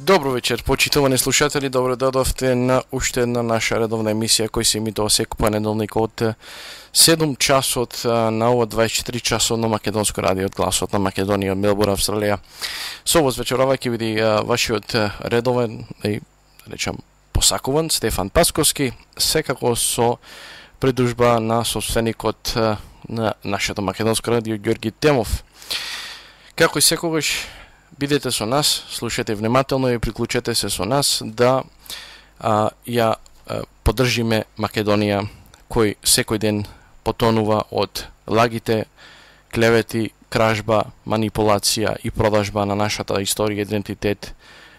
Добро вечер, почитувани слушатели, добро додовте на уште една наша редовна емисија која се емитува секој понеделник од 7 часот на ова 24 часовно македонско радио од гласот на Македонија, Мелбурн, Австралија. Со вас вечерова ќе биде вашиот редовен, речам, посакуван Стефан Пасковски, секако со придружба на собственикот на нашето македонско радио Ѓорги Темов. Како и секогаш, бидете со нас, слушате внимателно и приклучете се со нас да ја поддржиме Македонија, кој секој ден потонува од лагите, клевети, кражба, манипулација и продажба на нашата историја, идентитет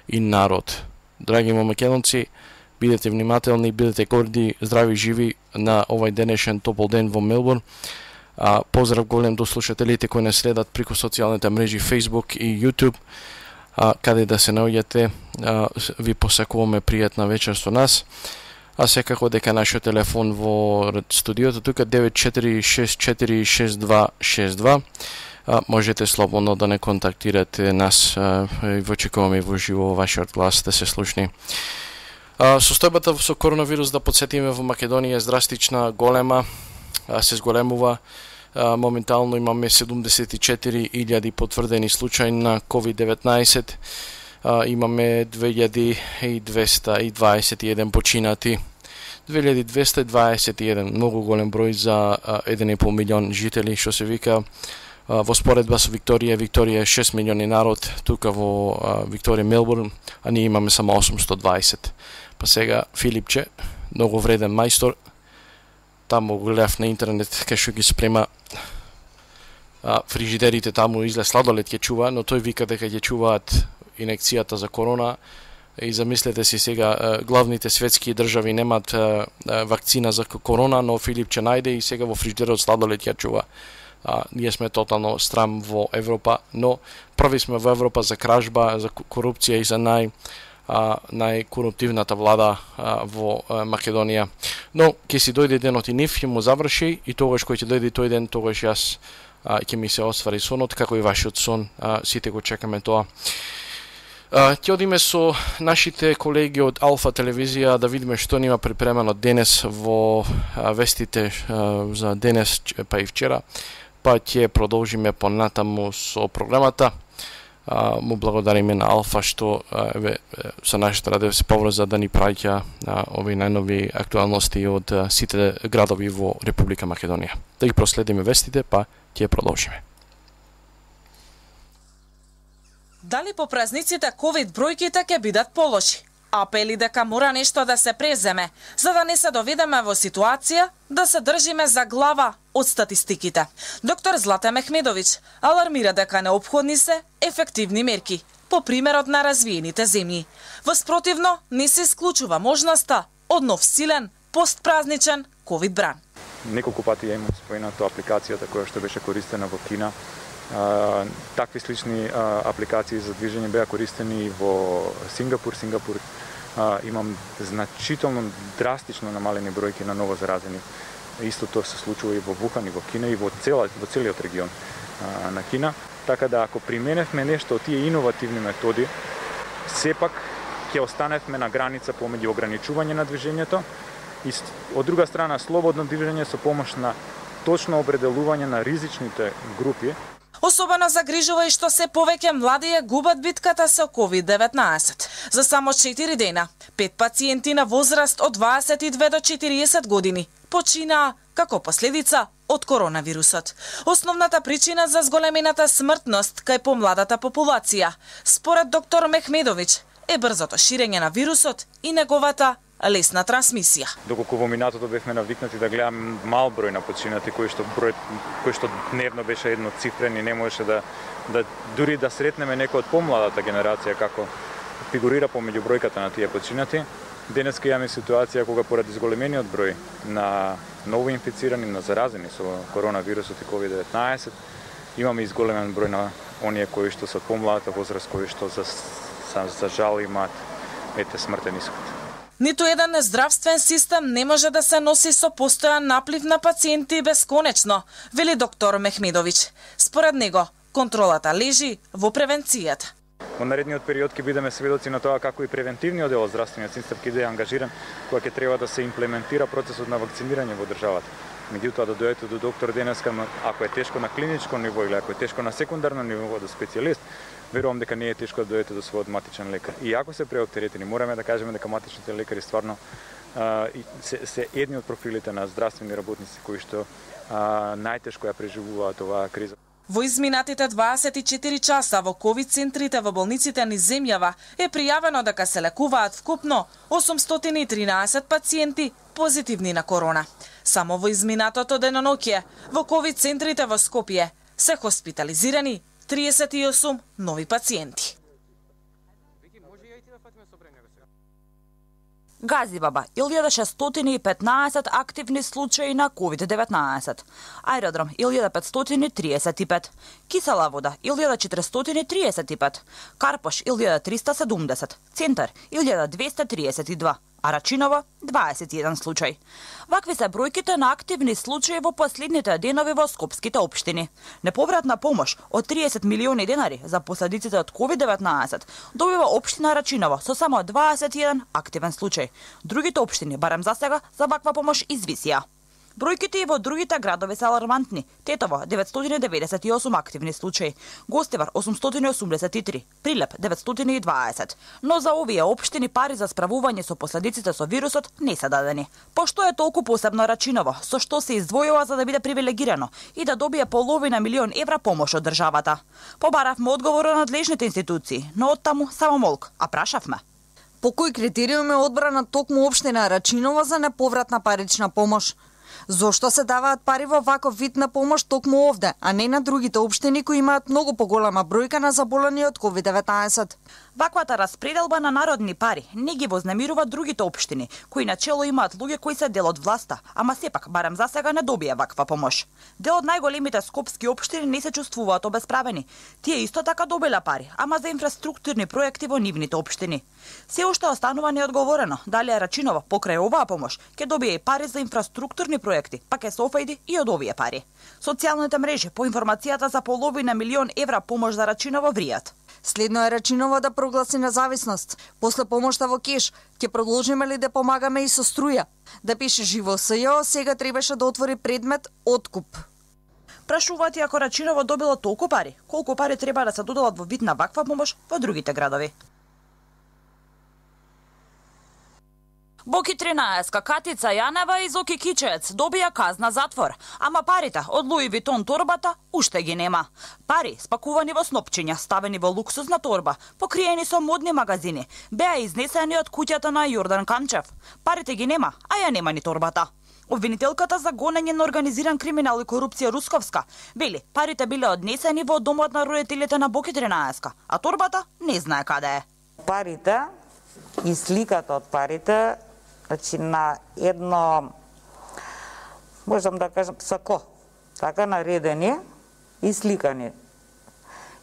и народ. Драги македонци, бидете внимателни, бидете горди, здрави, живи на овај денешен топол ден во Мелбурн. Поздрав голем до слушателите кои не следат преку социјалните мрежи Facebook и YouTube, каде да се наоѓате. Ви посакуваме пријатна вечер со нас. А секако дека нашиот телефон во студиото тука 94646262. Можете слободно да не контактирате нас и очекуваме во живо вашиот глас да се слушни. Состојбата со коронавирус, да подсетиме, во Македонија е драстична, голема, се зголемува. Моментално имаме 74.000 потврдени случаи на COVID-19, имаме 2221 починати, 2221, многу голем број за 1,5 милион жители, што се вика. Во споредба со Викторија, Викторија е 6 милиони народ, тука во Викторија, Мелбурн, а ние имаме само 820. Па сега Филипче, многу вреден мајстор, таму го гледав на интернет кај што ги спрема фрижидерите, таму излез сладолед ќе чува, но тој вика дека ќе чуваат инекцијата за корона. И замислете си сега, главните светски држави немаат вакцина за корона, но Филип ќе најде и сега во фрижидерот сладолед ќе чува. Ние сме тотално страм во Европа, но први сме во Европа за кражба, за корупција и за најкоруптивната влада во Македонија. Но ќе си дојде денот и нив, ќе му заврши, и тогаш кој ќе дојде тој ден, тогаш јас ќе ми се оствари сонот, како и вашиот сон, сите го чекаме тоа. Ќе одиме со нашите колеги од Алфа телевизија да видиме што нема припремено денес во вестите за денес, па и вчера, па ќе продолжиме понатаму со програмата. Му благодариме на Алфа што со нашата радио се поврза да ни праќа овие најнови актуалности од сите градови во Република Македонија. Да ги проследиме вестите, па ќе продолжиме. Дали по празниците ковид бројките ќе бидат полоши? Апели дека мора нешто да се преземе, за да не се доведеме во ситуација да се држиме за глава од статистиките. Доктор Злата Мехмедовиќ алармира дека неопходни се ефективни мерки, по примерот на развиените земји. Воспротивно, не се исклучува можноста од нов силен, постпразничен ковид бран. Неколку пати ја имам споменато апликацијата која што беше користена во Кина. Такви слични апликации за движење беа користени во Сингапур. Имам значително, драстично намалени бројки на ново заразени. Исто тоа се случува и во Вухан, и во Кина, и во целиот регион на Кина. Така да, ако применевме нешто од тие иновативни методи, сепак ќе останевме на граница помеѓу ограничување на движењето и од друга страна слободно движење со помош на точно определување на ризичните групи. Особено загрижува и што се повеќе млади ја губат битката со COVID-19. За само 4 дена, 5 пациенти на возраст од 22 до 40 години починаа како последица од коронавирусот. Основната причина за зголемената смртност кај помладата популација, според доктор Мехмедовиќ, е брзото ширење на вирусот и неговата лесна трансмисија. Доколку во минатото бевме навикнати да гледаме мал број на починати, кој што дневно беше едноцифрен и не можеше да дури да сретнеме некој од помладата генерација како фигурира помеѓу бројката на тие починати, денеска имаме ситуација кога поради зголемениот број на ново инфицирани, на заразени со коронавирусот и COVID-19, имаме изголемен број на оние кои што се помладата возраст, кои што за жал имаат смртен исход. Ниту еден здравствен систем не може да се носи со постојан наплив на пациенти бесконечно, вели доктор Мехмедовиќ. Според него, контролата лежи во превенцијата. Во наредниот период ќе бидеме сведоци на тоа како и превентивниот дел од здравствениот систем ќе биде ангажиран кога ќе треба да се имплементира процесот на вакцинирање во државата. Меѓутоа, да дојдете до доктор денеска, ако е тешко на клиничко ниво или ако е тешко на секундарно ниво до специјалист, верувам дека не е тешко да дојдете до својот матичен лекар. И ако се преоптеретени, мораме да кажеме дека матичните лекари стварно се едни од профилите на здравствени работници кои што најтешко ја преживуваат оваа криза. Во изминатите 24 часа во ковид центрите во болниците низ земјава е пријавено дека се лекуваат вкупно 813 пациенти позитивни на корона. Само во изминатото деноноќе во ковид центрите во Скопје се хоспитализирани 38 нови пациенти. Газибаба, 1615 активни случаи на COVID-19. Аеродром, 1535. Кисела вода, 1435. Карпош, 1370. Центар, 1232. А Рачиново, 21 случај. Вакви се бројките на активни случаи во последните денови во скопските општини. Неповратна помош од 30 милиони денари за последиците од COVID-19 добива општина Рачиново со само 21 активен случај. Другите општини, барем за сега, за ваква помош извисија. Бројките и во другите градови се алармантни. Тетово 998 активни случаи, Гостивар 883, Прилеп 920. Но за овие општини пари за справување со последиците со вирусот не се дадени. Пошто е толку посебно Рачиново, со што се издвојува за да биде привилегирано и да добие половина милион евра помош од државата? Побаравме одговор од надлежните институции, но оттаму само молк, а прашавме. По кој критериум е одбрана токму општина Рачиново за неповратна парична помош? Зошто се даваат пари во ваков вид на помош токму овде, а не на другите општини кои имаат многу поголема бројка на заболени од COVID-19? Ваквата распределба на народни пари не ги вознемирува другите општини, кои начело имаат луѓе кои се дел од власта, ама сепак барем за сега не добија ваква помош. Дел од најголемите скопски општини не се чувствуваат обесправени. Тие исто така добиле пари, ама за инфраструктурни проекти во нивните општини. Се уште останува неодговорено дали Рачиново покрај оваа помош ќе добие и пари за инфраструктурни проекти, па ќе се офајди и од овие пари. Социјалните мрежи по информацијата за половина милион евра помош за Рачиново вријат. Следно е Рачиново да прогласи независност. После помошта во кеш, ќе продолжиме ли да помагаме и со струја? Да пише живо СЈО, сега требаше да отвори предмет откуп. Прашуваат и ако Рачиново добило толку пари, колку пари треба да се доделат во вид на ваква помош во другите градови? Боки 13, Катица Јанева и Зоки Кичец добија казна затвор, ама парите од Луи Витон торбата уште ги нема. Пари спакувани во снопчиња, ставени во луксузна торба, покриени со модни магазини, беа изнесени од куќата на Јордан Камчев. Парите ги нема, а ја нема ни торбата. Обвинителката за гонење на организиран криминал и корупција Русковска вели парите биле однесени во домот на родителите на Боки 13, а торбата не знае каде е. Парите и сликата од парите, значи на едно, можам да кажам, сако, така наредени и сликани.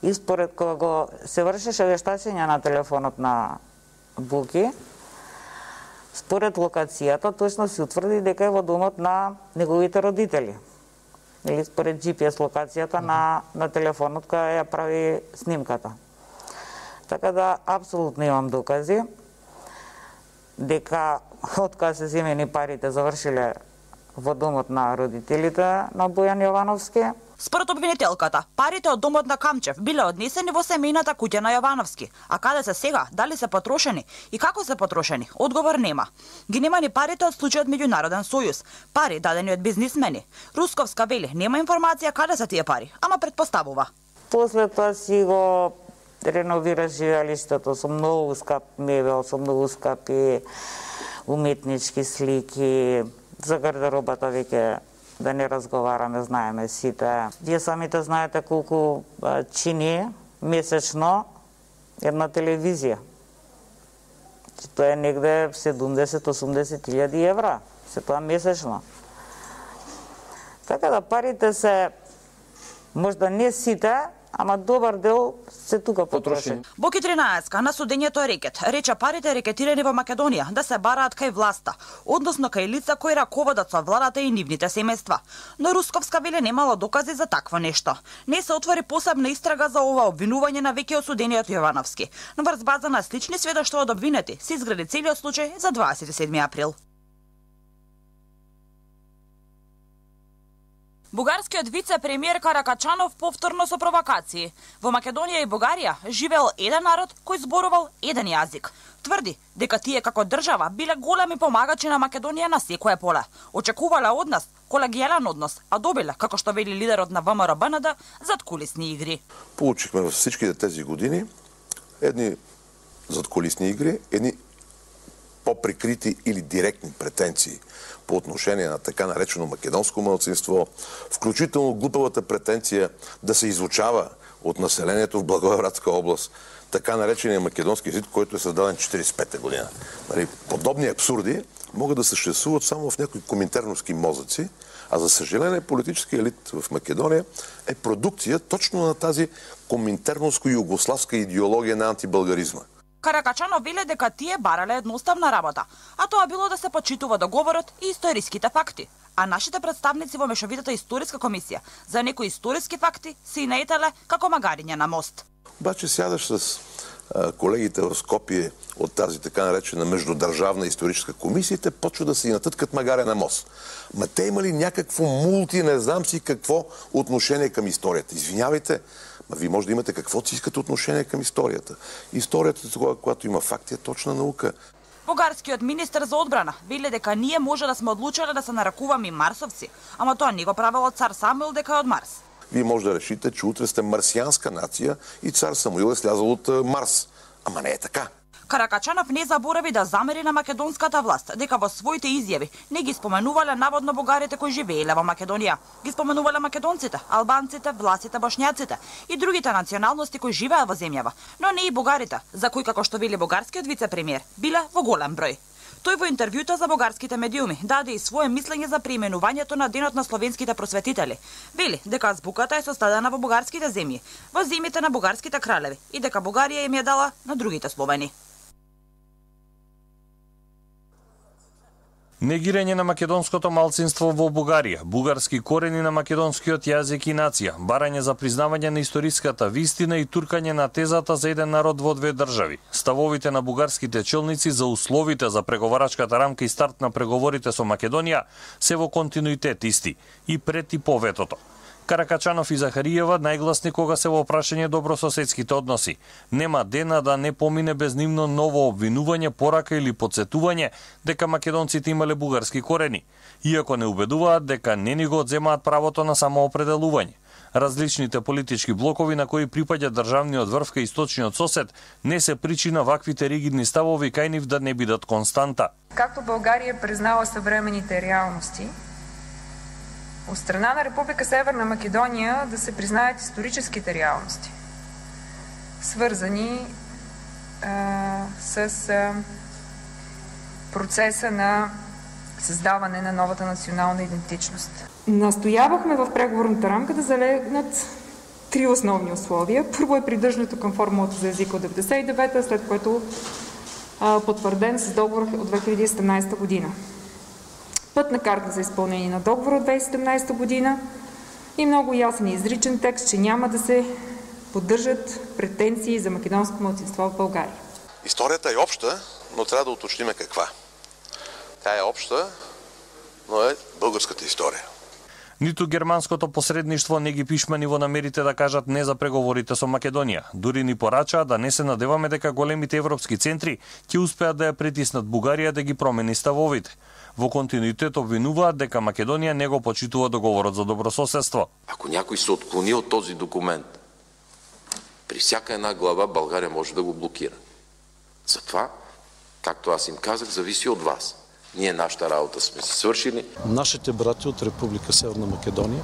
И според кога го се вршеше вештачење на телефонот на Боки, според локацијата точно се утврди дека е во домот на неговите родители. Или според GPS локацијата на телефонот која ја прави снимката. Така да, апсолутно имам докази дека од кога се земени парите завршиле во домот на родителите на Бојан Јовановски. Според обвинителката, парите од домот на Камчев биле однесени во семејната куќа на Јовановски, а каде се сега, дали се потрошени и како се потрошени, одговор нема. Ги нема ни парите од случајот Меѓународен сојуз, пари дадени од бизнисмени. Русковска вели, нема информација каде се тие пари, ама претпоставува. После тоа си го реновира живеалиштето со многу скап мебел, со многу скапи уметнички слики, за гардеробата веќе да не разговараме, знаеме сите. Вие самите знаете колку чини месечно една телевизија. Тоа е негде 70-80 илјади евра, се тоа месечно. Така да парите се, можда не сите, ама добар дел се тука потрошени. Боки 13 на судењето е рекет. Рече парите рекетирани во Македонија да се бараат кај власта, односно кај лица кои раководат со владата и нивните семејства. Но Русковска веле немало докази за такво нешто. Не се отвори посебна истрага за ова обвинување на веќе осудениот Јовановски. Но врз база на слични сведоштва од обвинети се изгради целиот случај за 27 април. Бугарскиот вице-премиер Каракачанов повторно со провокации. Во Македонија и Бугарија живеел еден народ кој зборувал еден јазик. Тврди дека тие како држава биле големи помагачи на Македонија на секое поле. Очекувале од нас колегијален однос, а добиле, како што вели лидерот на ВМРО-БНД, задкулисни игри. Получихме во всичките тези години едни задкулисни игри, едни поприкрити или директни претенции по отношение на така наречено македонско малцинство, вклучително глупавата претенција да се изучава од населението в Благоевградска област така наречения македонски език, който е създаден 1945 година. Подобни абсурди могат да съществуват само в някои коминтерновски мозъци, а за съжаление политически елит в Македония е продукция точно на тази коминтерновско-югославска идеология на антибългаризма. Каракачанов веле дека тие барале едноставна работа, а тоа било да се почитува договорот и историските факти. А нашите представници во Мешовитата историска комисија за некои историски факти се наетале како магариња на мост. Обаче сядаш с колегите в Скопие от тази така наречена междудържавна историческа комисия, те почват да си натъткат магаря на мост. Ма те имали някакво не знам си какво отношение към историята. Извинявайте, ма вие може да имате каквото си искате отношение към историята. Историята, когато има факти, е точна наука. Бугарскиот министер за одбрана веле дека ние може да сме одлучале да се нарекуваме марсовци, ама тоа не го правело цар Самуил дека е од Марс. Вие може да решите, че утре сте марсианска нация и цар Самуил е слязал от Марс. Ама не е така. Каракачанов не заборави да замери на македонската власт, дека во своите изјави не ги споменувале наводно бугарите кои живееле во Македонија. Ги споменувале македонците, албанците, власите, бошњаците и другите националности кои живеат во земјава, но не и бугарите, за кои, како што вели бугарскиот вице-премиер, биле во голем број. Тој во интервјута за бугарските медиуми даде и свое мислење за преименувањето на Денот на словенските просветители. Вели дека азбуката е составена во бугарските земји, во земјите на бугарските кралеви и дека Бугарија им ја дала на другите словени. Негирање на македонското малцинство во Бугарија, бугарски корени на македонскиот јазик и нација, барање за признавање на историската вистина и туркање на тезата за еден народ во две држави. Ставовите на бугарските челници за условите за преговарачката рамка и старт на преговорите со Македонија се во континуитет исти и пред и по ветото. Каракачанов и Захариева најгласни кога се во прашање добрососедските односи. Нема дена да не помине без нивно ново обвинување, порака или подсетување дека македонците имале бугарски корени, иако не убедуваат дека не ни го одземаат правото на самоопределување. Различните политички блокови на кои припаѓа државниот врв кај источниот сосед не се причина ваквите ригидни ставови кај нив да не бидат константа. Както България признава съвременните реалности, от страна на Република Северна Македония да се признаят историческите реалности, свързани с процеса на създаване на новата национална идентичност. Настоявахме в преговорната рамка да залегнат три основни условия. Първо е придържането към формулата за езика от 1999, след което потвърден с договор от 2017 година. Пътна карта за изпълнение на договора от 2017 година и много ясен и изричен текст, че няма да се поддържат претенции за македонско малцинство в България. Историята е обща, но трябва да уточним каква. Тя е обща, но е българската история. Ниту германското посредништво не ги пишмани во намерите да кажат не за преговорите со Македонија. Дури ни порачаа да не се надеваме дека големите европски центри ќе успеат да ја притиснат Бугарија да ги промени ставовите. Во континуитет обвинуваат дека Македонија не го почитува договорот за добрососедство. Ако някой се отклони от този документ, при всяка една глава България може да го блокира. Затова, както аз им казах, зависи от вас. Ние нашата работа сме си свършили. Нашите брати от Република Северна Македония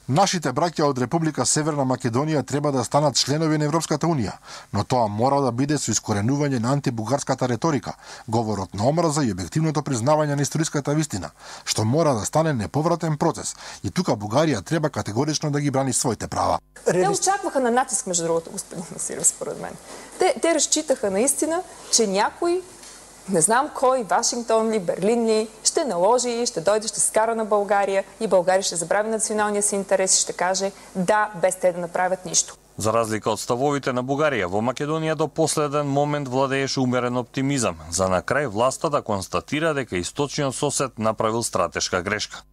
Нашите браќа од Република Северна Македонија треба да станат членови на Европската Унија, но тоа мора да биде со искоренување на антибугарската реторика, говорот на омраза и објективното признавање на историската вистина, што мора да стане неповратен процес. И тука Бугарија треба категорично да ги брани своите права. Те очакваха на натиск, между другото, господин Насиров, според мен. Те разчитаха наистина, че някой, не знам кой, Вашингтон ли, Берлин ли, ще наложи, ще дойде, ще скара на България и България ще забрави националния си интерес и ще каже да, без те да направят нищо. За разлика од ставовите на Бугарија, во Македонија до последен момент владееше умерен оптимизам, за на крај власта да констатира дека источниот сосед направил стратешка грешка.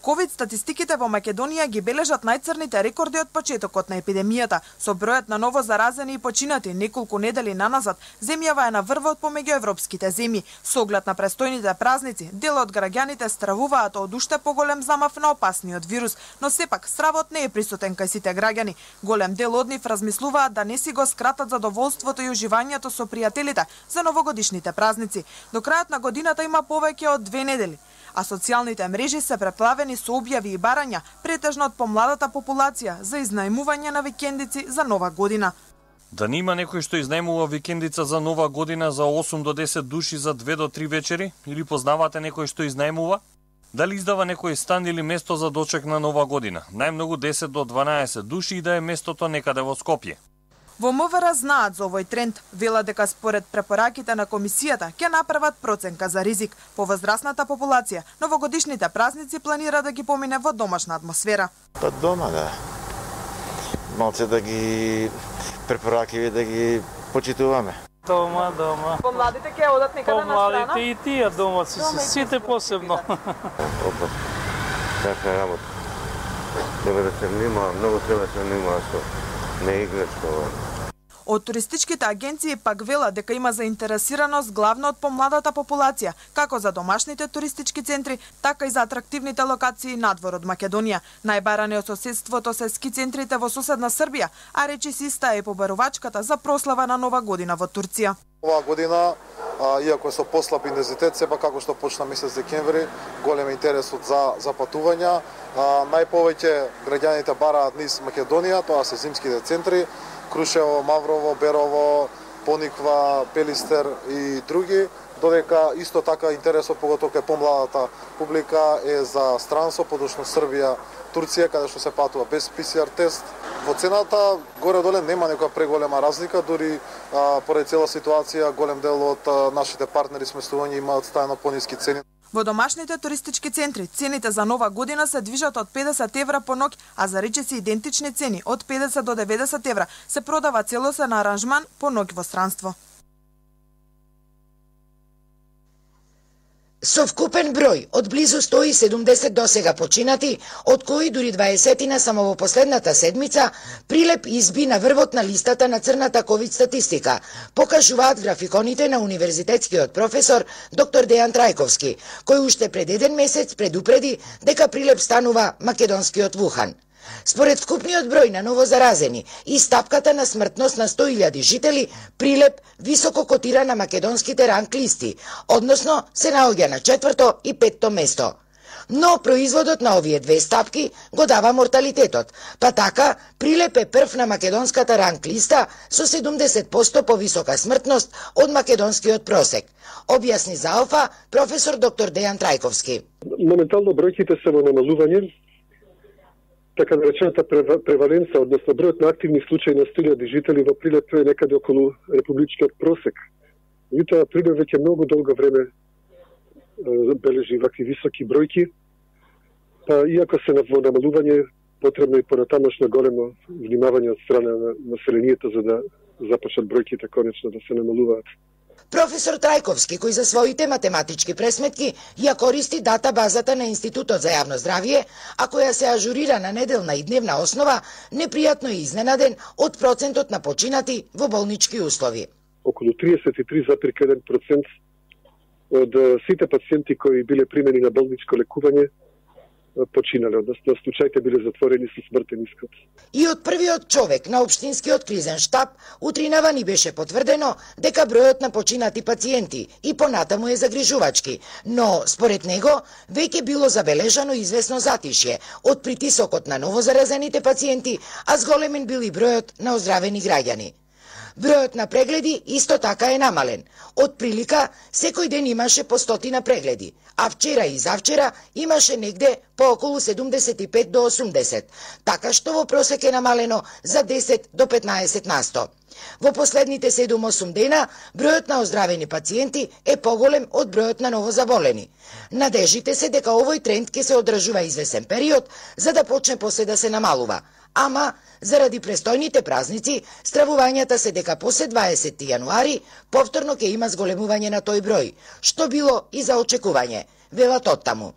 Ковид статистиките во Македонија ги бележат најцрните рекорди од почетокот на епидемијата. Со бројот на ново заразени и починати неколку недели наназад, земјава е на врвот помеѓу европските земји. Со оглед на престојните празници, дел од граѓаните стравуваат од уште поголем замав на опасниот вирус, но сепак стравот не е присутен кај сите граѓани. Голем дел од нив размислуваат да не си го скратат задоволството и уживањето со пријателите за новогодишните празници. До крајот на годината има повеќе од 2 недели. А социјалните мрежи се преплавени со објави и барања, претежно од помладата популација, за изнајмување на викендици за Нова година. Да не има некој што изнајмува викендица за Нова година за 8 до 10 души за 2 до 3 вечери? Или познавате некој што изнајмува? Дали издава некој стан или место за дочек на Нова година? Најмногу 10 до 12 души и да е местото некаде во Скопје. Во МВР знаат за овој тренд, велат дека според препораките на комисијата ќе направат проценка за ризик. По возрастната популација, новогодишните празници планира да ги помине во домашна атмосфера. Па дома, да. Малце да ги препораки да ги почитуваме. Дома. Помладите ќе одат некаде на страна? Помладите и тие дома, сите посебно. Опа, така работа. Треба да се внимава, многу треба да се внимава со не играчка. Од туристичките агенции пак велат дека има заинтересираност главно од помладата популација, како за домашните туристички центри, така и за атрактивните локации надвор од Македонија. Најбарани од соседството се ски центрите во соседна Србија, а речиси иста е побарувачката за прослава на Нова година во Турција. Оваа година, иако е со послаб интензитет, сепак како што почна месец декември, голем интересот за патувања. Најповеќе граѓаните бараат низ Македонија, тоа се зимските центри, Крушево, Маврово, Берово, Пониква, Пелистер и други, додека исто така интересот, поготоа кај помладата публика, е за странство, подошно Србија, Турција, каде што се патува без PCR тест. Во цената горе-доле нема некоја преголема разлика, дури поради цела ситуација голем дел од нашите партнери сместување имаат стајно пониски цени. Во домашните туристички центри цените за Нова година се движат од 50 евра по ноќ, а за речиси идентични цени од 50 до 90 евра се продава целосен аранжман по ноќ во странство. Со вкупен број од близу 170 досега починати, од кои дури 20 само во последната седмица, Прилеп изби на врвот на листата на црната ковид статистика, покажуваат графиконите на универзитетскиот професор доктор Дејан Трајковски, кој уште пред 1 месец предупреди дека Прилеп станува македонскиот Вухан. Според вкупниот број на новозаразени и стапката на смртност на 100.000 жители, Прилеп високо котира на македонските ранг листи, односно се наоѓа на 4-то и 5-то место. Но производот на овие две стапки го дава морталитетот, па така Прилеп е прв на македонската ранг листа со 70% повисока смртност од македонскиот просек. Објасни за ОФА професор доктор Дејан Трајковски. Моментално бројките се во намалување, така наречената преваленца, односно бројот на активни случаи на 100.000 жители во Прилеп е некаде околу републичкиот просек. Меѓутоа Прилеп веќе многу долго време бележи вакви високи бројки, па иако се во намалување, потребно и понатамошно големо внимавање од страна на населението за да започнат бројките конечно да се намалуваат. Професор Трајковски, кој за своите математички пресметки ја користи датабазата на Институтот за јавно здравје, а која се ажурира на неделна и дневна основа, непријатно е изненаден од процентот на починати во болнички услови. Околу 33,1% од сите пациенти кои биле примени на болничко лекување починале, односно случаите биле затворени со смртен исход. И од првиот човек на општинскиот кризен штаб утринава ни беше потврдено дека бројот на починати пациенти и понатаму е загрижувачки, но според него веќе било забележано известно затишје од притисокот на новозаразените пациенти, а зголемен бил и бројот на оздравени граѓани. Бројот на прегледи исто така е намален. Од прилика, секој ден имаше по 100 прегледи, а вчера и завчера имаше негде по околу 75 до 80, така што во просек е намалено за 10 до 15%. Во последните 7-8 дена, бројот на оздравени пациенти е поголем од бројот на новозаболени. Надежите се дека овој тренд ќе се одржува извесен период, за да почне после да се намалува. Ама, заради престојните празници, стравувањата се дека после 20 јануари повторно ќе има зголемување на тој број, што било и за очекување, велат оттаму.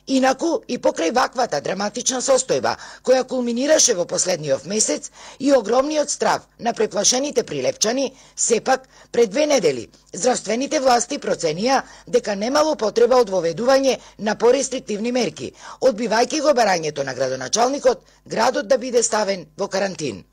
Инаку, и покрај ваквата драматична состојба, која кулминираше во последниот месец и огромниот страв на преплашените прилепчани, сепак, пред 2 недели, здравствените власти проценија дека немало потреба од воведување на порестриктивни мерки, одбивајќи го барањето на градоначалникот, градот да биде ставен во карантин.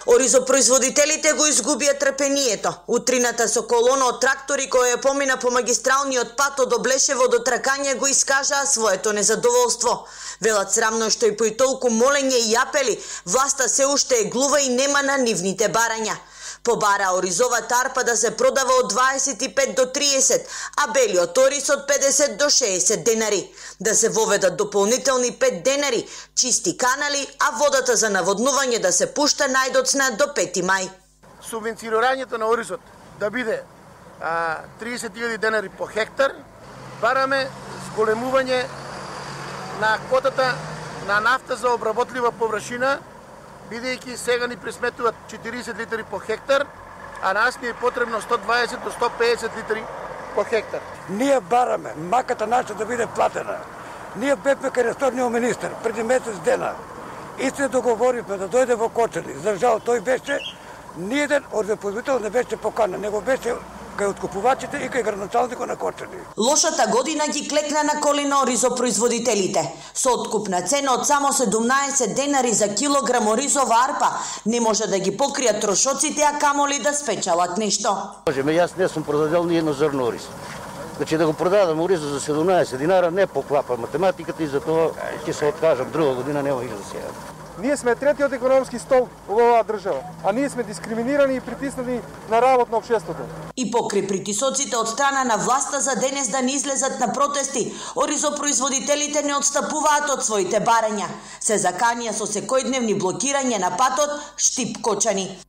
Оризопроизводителите го изгубија трпението. Утрината со колона од трактори која помина по магистралниот пат од Облешево до Тракање го искажаа своето незадоволство. Велат срамно што и по и толку молење и апели, власта се уште е глува и нема на нивните барања. Побара оризовата арпа да се продава од 25 до 30, а белиот ориз од 50 до 60 денари. Да се воведат дополнителни 5 денари, чисти канали, а водата за наводнување да се пушта најдоцна до 5 мај. Субвенцирањето на оризот да биде 30.000 денари по хектар, бараме зголемување на котата на нафта за обработлива површина, бидејќи сега ни пресметуваат 40 литри по хектар, а нас ни е потребно 120 до 150 литри по хектар. Ние бараме маката наша да биде платена. Ние бевме кај ресорниот министер преди месец дена и се договоривме да дојде во Кочани. За жал тој беше, ниеден оризопроизводител не беше поканен, него беше кај откупувачите и кај градоначалникот на Кочани. Лошата година ги клекна на колена оризопроизводителите. Со откупна цена од само 17 денари за килограм оризова арпа не може да ги покријат трошоците, а камоли да спечалат нешто. Јас не сум продадел ни едно зрно ориз. Значи да го продадам ориза за 17 динара не поклапа математиката и затоа ќе се откажам. Друга година нема и за сега. Ние сме третиот економски столб во оваа држава, а ние сме дискриминирани и притиснати на работ на општеството. И покри притисоците од страна на власта за денес да не излезат на протести, оризопроизводителите не отстапуваат од своите барања. Се заканија со секојдневни блокирање на патот Штип-Кочани.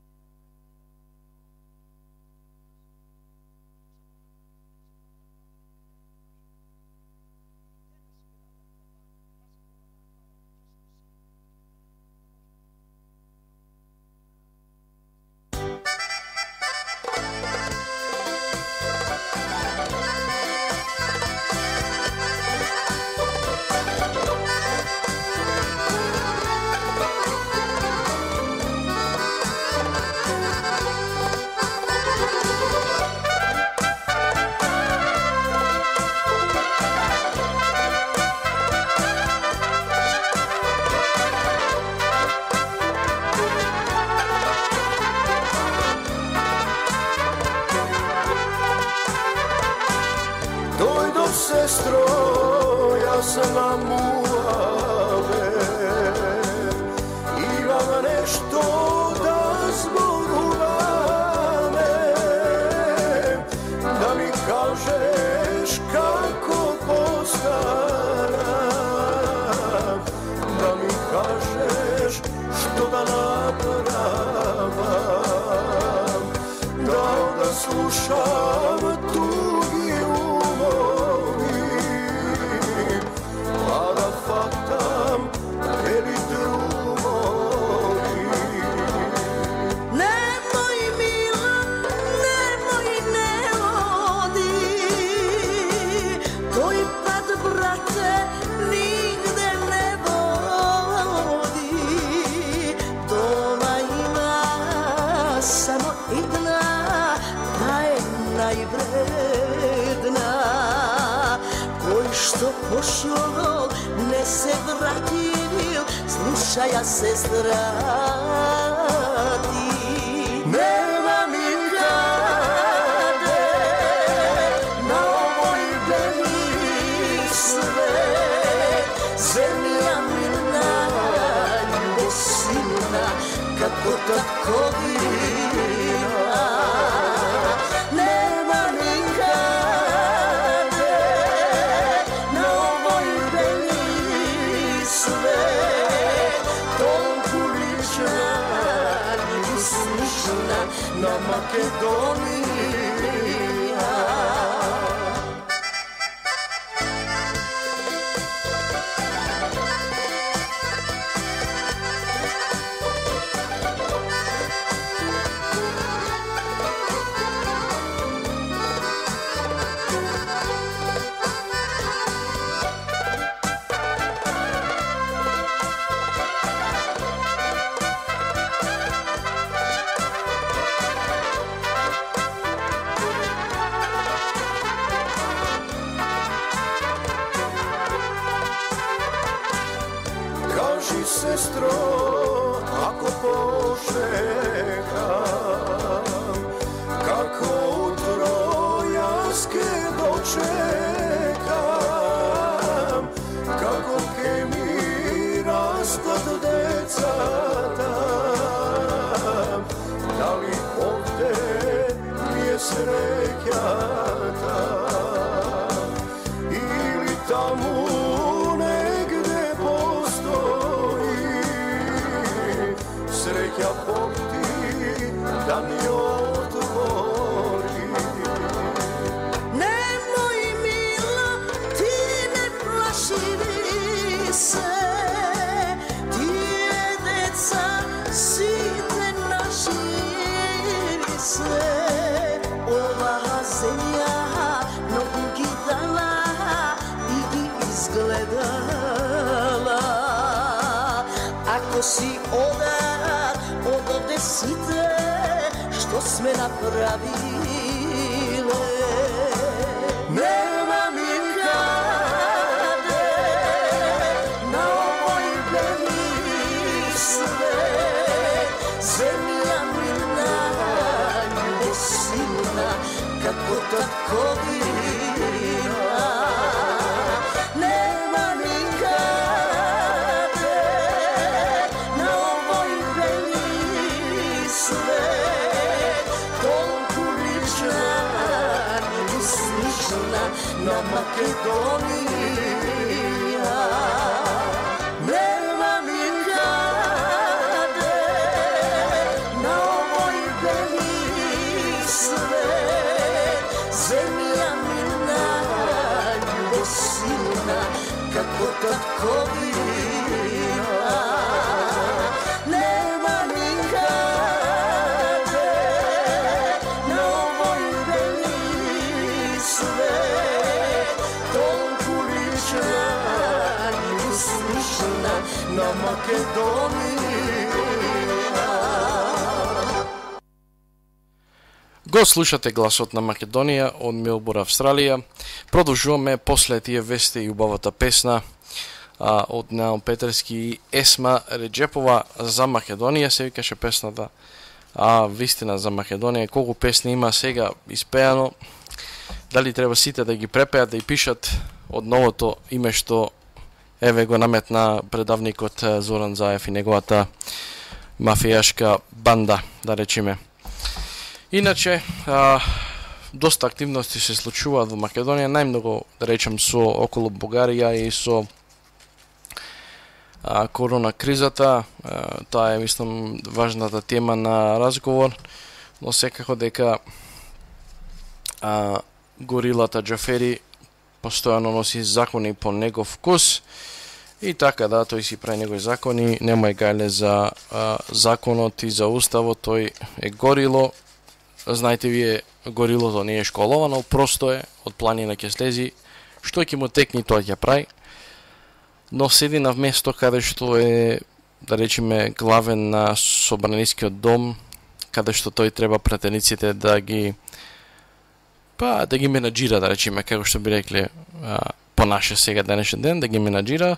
Sestro, ja sam vam muave, imam nešto da zboruvame, da mi kažeš kako postaram, da mi kažeš što da napravam, da slušam tugi umovi, pa da вредна, кој што пошол не се вратил, слушај ја сестра ти. Нема никаде на овој бели свет земја милна, љубосилна, како татковина. Нема никаде на овој бели свет толку лична, слична на Македонија. Кажи, сестро, ако почекам, како утро јас ке дочекам, како ке ми растат децата, дали овде ми е среќата, или таму среќа Бог ти да ми отвори. Немој мила, ти не плаши се, тие деца сите наши се. Оваа земја многу ги дала и ги изгледала. Ако си одат од овде сите што сме направиле, нема никаде на овој бели свет земја милна, љубосилна, како татковина. Нема никаде на овој бели свет толку лична, слична на Македонија. Нема никаде на овој бели свет земја милна, љубосилна, како татковина. Нема никаде на овој бели свет толку лична, слична на Македонија. Го слушате гласот на Македонија од Мелбурн, Австралија. Продолжуваме после тие вести и убавата песна од Неал Петерски и Есма Реджепова за Македонија, се викаше песната. Вистина за Македонија, колку песни има сега испеано, дали треба сите да ги препеат, да и пишат од новото име што еве го наметна предавникот Зоран Заев и неговата мафијашка банда, да речеме. Иначе, доста активности се случуваат во Македонија, најмногу, да речем, со околу Бугарија и со корона кризата. Таа е, мислам, важната тема на разговор, но секако дека горилата Џафери постојано носи закони по негов вкус и така да, тој си прави негови закони, нема гајле за законот и за уставот, тој е горило. Знаете вие, горилото не е школовано, просто е од планина ќе слези, што ќе му текни тоа ќе прави, но седи на место каде што е, да речеме, главен на собранискиот дом, каде што тој треба пратениците да ги па да ги менаџира, да речеме, како што би рекле по наше сега денешен ден, да ги менаџира,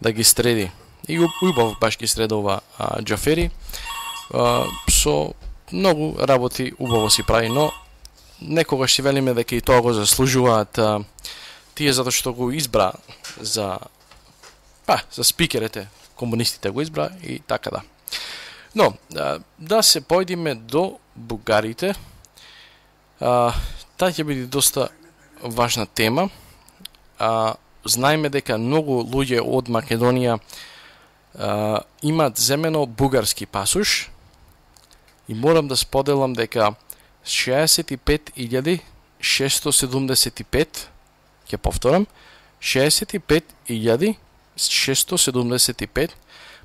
да ги среди. И убав баш ги средува Џафери, со многу работи убаво си прави, но некогаш си велиме дека и тоа го заслужуваат тие затоа што го избра за спикерите, комунистите го избра и така да. Но, да се појдиме до бугарите, таа ќе биде доста важна тема. Знаеме дека многу луѓе од Македонија имаат земено бугарски пасош и морам да споделам дека 65.675, ќе повторам, 65.675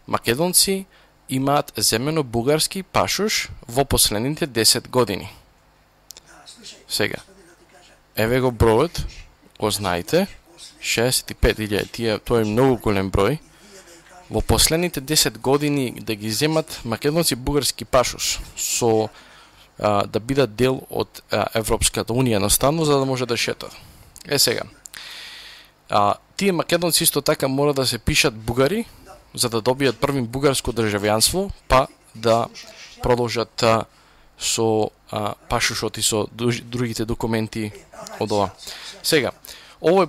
македонци имаат земено бугарски пашош во последните 10 години. Сега, еве го бројот, го знаете, 65.000, тоа е многу голем број. Во последните 10 години да ги земат македонци бугарски пашош со да бидат дел од Европската унија наставно, за да може да шетат. Сега, тие македонци исто така мора да се пишат бугари, за да добијат првим бугарско државјанство, па да продолжат со пашошот и со другите документи од ова. Сега, овој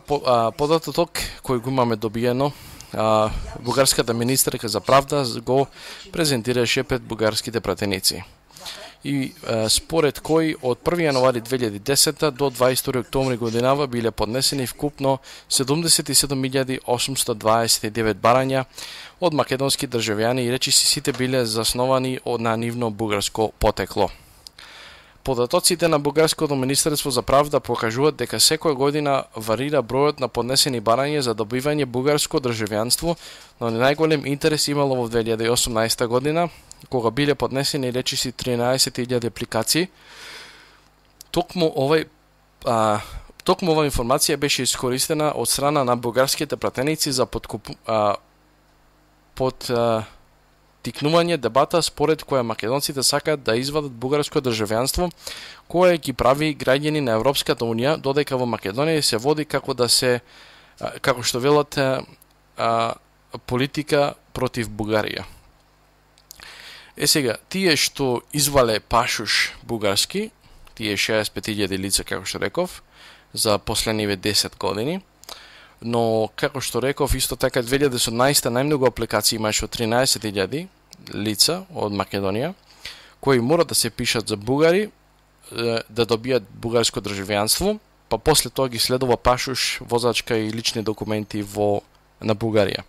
податок кој го имаме добиено, бугарската министерка за правда го презентираше пред бугарските пратеници. И според кој од 1 јануари 2010 до 22 октомври годинава биле поднесени вкупно 77.829 барања од македонски државјани и речиси сите биле засновани на нивно бугарско потекло. Податоците на Бугарското министерство за правда покажуваат дека секоја година варира бројот на поднесени барања за добивање бугарско државјанство, но најголем интерес имало во 2018 година, кога биле поднесени речиси 13.000 апликации. Токму ова информација беше искористена од страна на бугарските пратеници за тикнување дебата според која македонците сакаат да извадат бугарско државјанство, кое ги прави граѓани на Европската унија, додека во Македонија се води како што велат политика против Бугарија. Сега, тие што извале пашош бугарски, тие 65.000 лица, како што реков, за последниве 10 години, но, како што реков, исто така 2018 најмногу апликации имаше од 13.000 лица од Македонија, кои мора да се пишат за бугари, да добијат бугарско државјанство, па после тоа ги следува пашош, возачка и лични документи на Бугарија.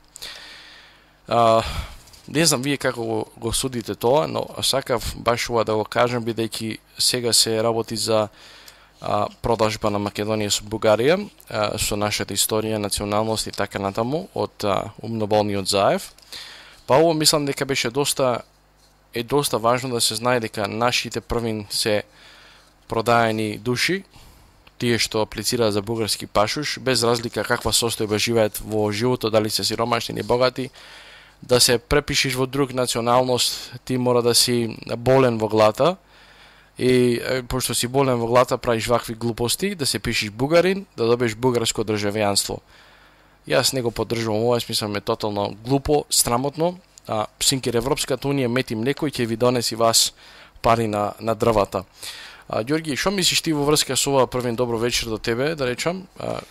Не знам вие како го судите тоа, но сакав баш ова да го кажам, бидејќи сега се работи за продажба на Македонија со Бугарија, со нашата историја, националност и така натаму, од умноболниот Заев. Па ово мислам дека беше доста важно да се знае дека нашите првин се продаени души, тие што аплицираат за бугарски пашош, без разлика каква состојба живеат во животот, дали се сиромашни или богати, да се препишиш во друг националност, ти мора да си болен во глата, и пошто си болен во глата правиш вакви глупости, да се пишеш бугарин, да добиеш бугарско државјанство. Јас не го поддржувам ова, смислам е тотално глупо, срамотно, синкер Европската унија мети млеко и ќе ви донеси вас пари на дрвата. Ѓорги, што мислиш ти во врска со ова? Првен добро вечер до тебе, да речам.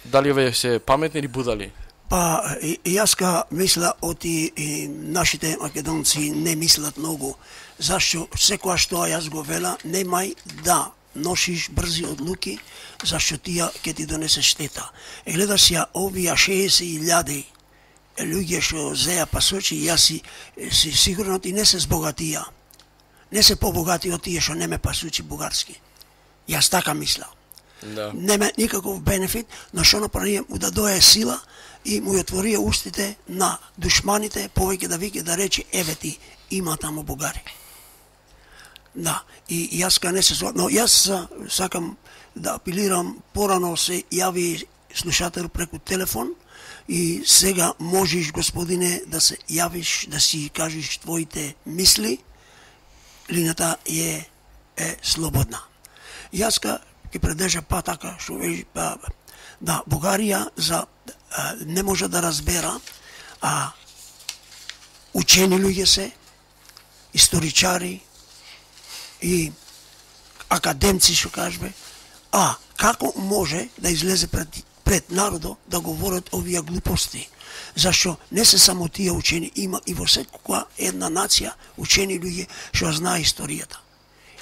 Дали овие се паметни или будали? Па, јас мисля оти нашите македонци не мислат многу. Зашто секоја што јас го вела, немај да носиш брзи одлуки, зашто тија ќе ти донесе штета. Гледаш ја овие 60.000 луѓе што зеја пасочи, јас си сигурно ти не се збогатија. Не се побогати од тие што не ме пасучи бугарски. Јас така мисля. Да. Нема никаков бенефит, но што направи му да дое сила и му отворија устите на душманите, повеќе да вике да рече еве ти има таму бугари. Да, и јас не се но јас сакам да апелирам, порано се јави слушател преку телефон и сега можеш, господине, да се јавиш, да си кажеш твоите мисли. Линијата е слободна. Јас ќе предржа па така што да Бугарија не може да разбера, учени луѓе се, историчари и академци што кажбе, како може да излезе пред народот да говорат овие глупости? Зашто не се само тие учени, има и во секоја една нација учени луѓе што знае историјата.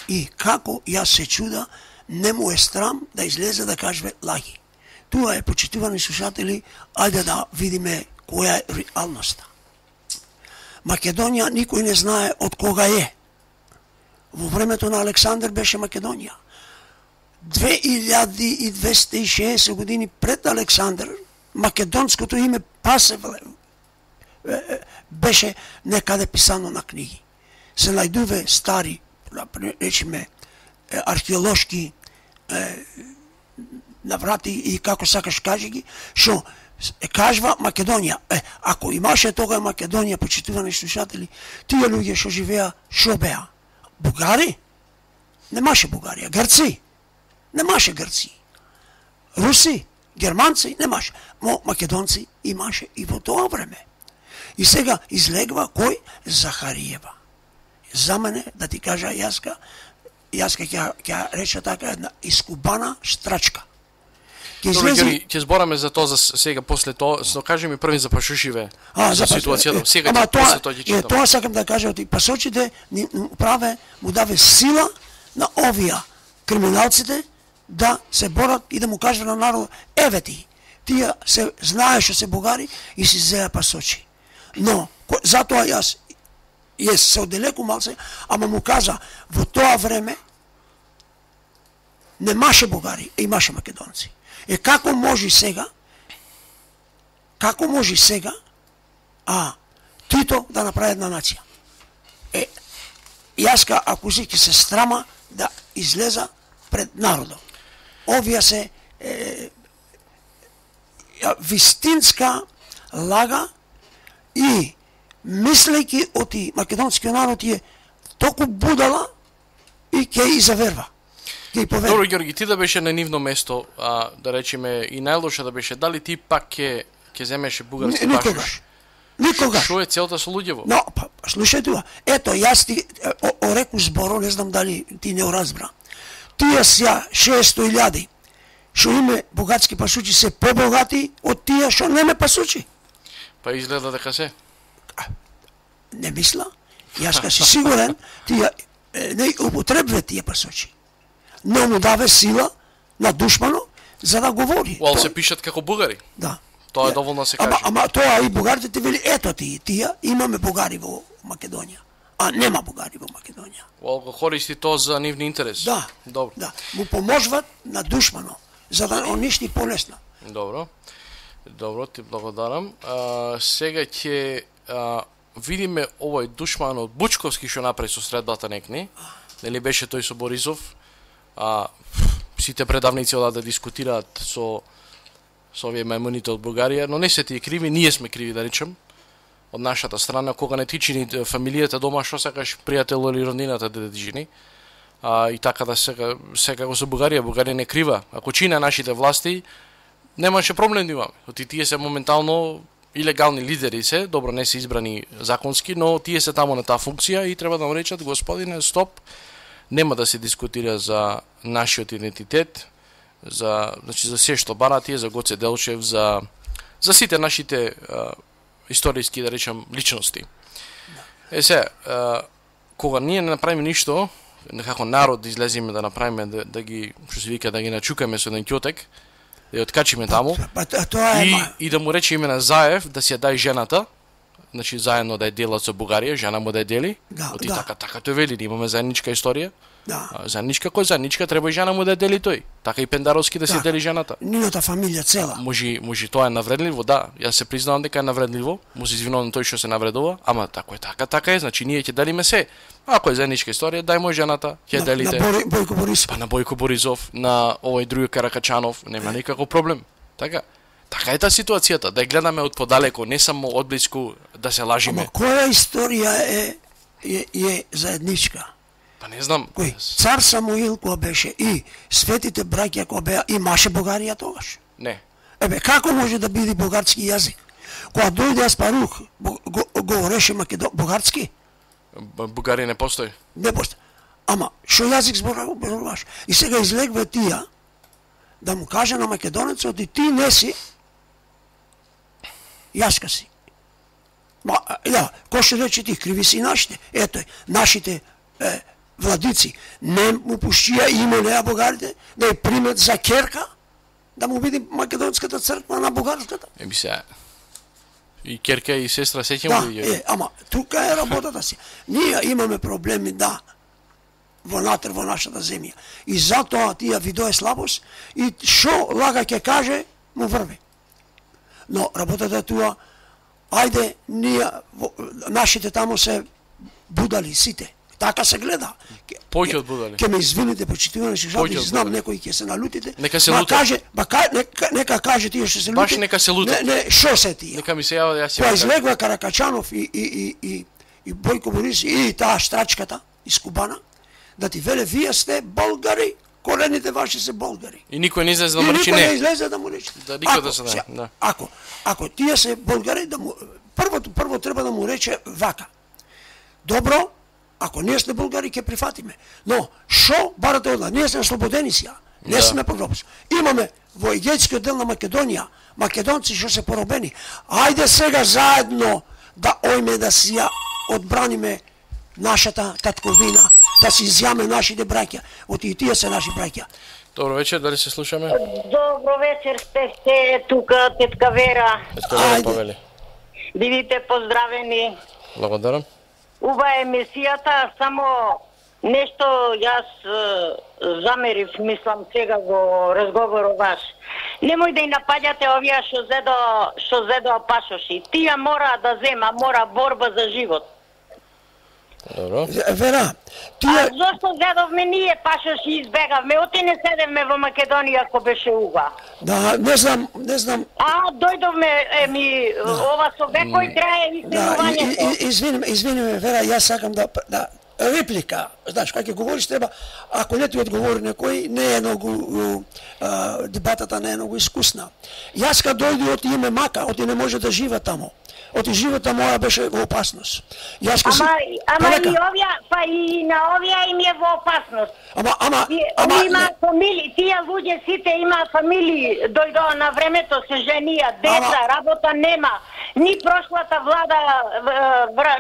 И како јас се чуда, не му е страм да излезе да каже лаги. Тоа е, почитувани слушатели, ајде да видиме која е реалноста. Македонија никој не знае од кога е. Во времето на Александар беше Македонија. 2260 години пред Александар, македонското име Пасевле беше некаде писано на книги. Се најдуве стари, речеме, археолошки наврати и како сакаш кажи ги, што кажва Македонија. Ако имаше тога Македонија, почитувани слушатели, тие луѓе што живеа, што беа? Бугари? Немаше Бугарија. Грци? Немаше Грци. Руси? Германци? Немаше. Но македонци имаше и во тоа време. И сега излегва кој? Захариева. За мене, да ти кажа, јаска ќе рече така една искубана штрачка. Ќе збораме за тоа за сега после тоа, но кажи ми први за пашушиве, за ситуацијата. Сега после тоа ќе читам. Тоа сакам да кажам, пасочите му даве сила на овие криминалците да се борат и да му кажат на народ, еве ти, тие се знае што се бугари и си зеа пасочи. Но затоа јас се оделеку малце, ама му кажа, во тоа време немаше бугари, имаше македонци. Како може сега Тито да направи една нација? Јаска, ако си ќе се страма да излеза пред народот. Овие се вистинска лага и мислејќи оти македонскиот народ е толку будала и ќе и заверва. Добро, Ѓорги, ти да беше на нивно место, да речеме и најлоша да беше, дали ти пак ќе земеше бугарски пашуш? Никогаш. Што е целта со луѓево? Но, слушај тоа. Ето, јас ти реку зборо, не знам дали ти не разбра. Тие сја 600.000 што име бугарски пасучи се побогати од тие што неме пасучи. Па изгледа дека се. Не мисла. Јас си сигурен, тие не употребве тие пасучи. Но му даве сила на душмано за да говори. Уал се пишат како бугари. Да. Тоа е доволно се каже. Ама тоа и бугарите ти вели, ето тие имаме бугари во Македонија. А нема бугари во Македонија. Уал го користи тоа за нивни интерес. Да. Добро. Да. Му поможват на душмано за да уништи полесно. Добро. Добро, ти благодарам. Сега ќе видиме овој душман од Бучковски што направи со средбата некни. Нели беше тој со Борисов? Сите предавници одат да дискутираат со овие мајмуните од Бугарија, но не се тие криви, ние сме криви да речем од нашата страна, кога не ти чини фамилијата дома, што сакаш пријател или роднината да ти чини. И така да секако со Бугарија не крива. Ако чине нашите власти, немаше проблем да имаме. Оти тие се моментално илегални лидери се, добро не се избрани законски, но тие се таму на таа функција и треба да му речат, господине, стоп, нема да се дискутира за нашиот идентитет, за се што бара тие, за Гоце Делчев, за сите нашите историски, да речем, личности. Кога ние не направиме ништо, како народ да излеземе да направиме, да ги, што се вика, да ги начукаме со еден ќотек, да ја откачиме таму, и да му рече име на Заев, да си ја дај жената, значи заедно да ја делат со Бугарија, жена му да ја дели, оти така тој вели, да имаме заедничка историја. Заедничка, кој заедничка, треба и жена му да ја дели тој. Така и Пендаровски да се дели жената. Нината фамилија цела. Може тоа е навредливо, да. Јас се признавам дека е навредливо. Му се извинувам тој што се навредува, ама така е, значи ние ќе делиме се. Ако е заедничка историја, дај му жената, ќе делите. На Бојко Борисов. Па на Бојко Борисов, на овој други Каракачанов, нема никаков проблем. Така е таа ситуацијата, да ја гледаме од подалеку, не само од блиску да се лажиме. Ама која историја е заедничка? Па не знам. Кој? Цар Самуил која беше и светите браќа која беа, имаше Бугарија тогаш? Не. Ебе, како може да биде бугарски јазик? Кога дојде Аспарух, говореше бугарски? Бугарија не постои. Не постои. Ама, шо јазик зборуваш? И сега излегва тија да му каже на македонецот и ти не си, јаска си. Кој ще рече ти, криви си нашите? Ето, нашите владици не му пуштија име неа бугарите, да ја примет за керка, да му биде македонската црква на бугарската. Еби се, и керка и сестра сеќам да, ама тука е работата си. Ние имаме проблеми, да, вонатре во нашата земја. И затоа тија видое слабост и шо лага ќе каже, му врви. Но работата е туа, ајде, ние, нашите таму се будали сите. Така се гледа. Поќе од будали. Ке ме извините, почитувани слушатели, знам некои ќе се налутите. Нека се лута. Нека каже тие што се лути. Баш нека се лута. Не, шо се тие? Нека ми се јава, јас ќе. Која излегва Каракачанов и Бојко Борис и таа штрачката из Кубана, да ти веле, вие сте българи, корените ваши се българи. И никој не излезе да му рече не. И никој не излезе да му рече. Да, никој да се не. Да. Ако тие се българи, да му прво треба да му рече вака. Добро, ако ние сме българи, ќе прифатиме. Но, шо барате од нас? Ние сме слободени сија. Не сме под робство. Имаме во егејскиот дел на Македонија, македонци што се поробени. Ајде сега заедно да ојме да си ја одбраниме нашата татковина, да си изјаме нашите браќа. Оти и тие се наши браќа. Добро вечер, дали се слушаме? Добро вечер, сте тука, тетка Вера. Тетка Вера повели. Бидите поздравени. Благодарам. Уба емисијата, само нешто јас замерив, мислам сега го разговорот ваш. Немој да и напаѓате овие што зедо пашоши. Тие мора да зема, мора борба за живот. Добро. Вера, тие... А зошто зедовме ние пашоши избегавме? Оти не седевме во Македонија ако беше уга. Да, не знам. Дојдовме, ова со векој трае истинувањето. Извини, Вера, јас сакам да реплика. Знаеш, кога ќе говориш треба, ако не ти одговори некој, не е многу дебатата не е многу искусна. Јас кога дојде од име Мака, оти не може да живе тамо. Оти живота моја беше во опасност. Ама и овие, па и на овие им е во опасност. Има фамилии, тие луѓе сите имаат фамилии, дојдоа на времето, се женија, деца, работа нема. Ни прошлата влада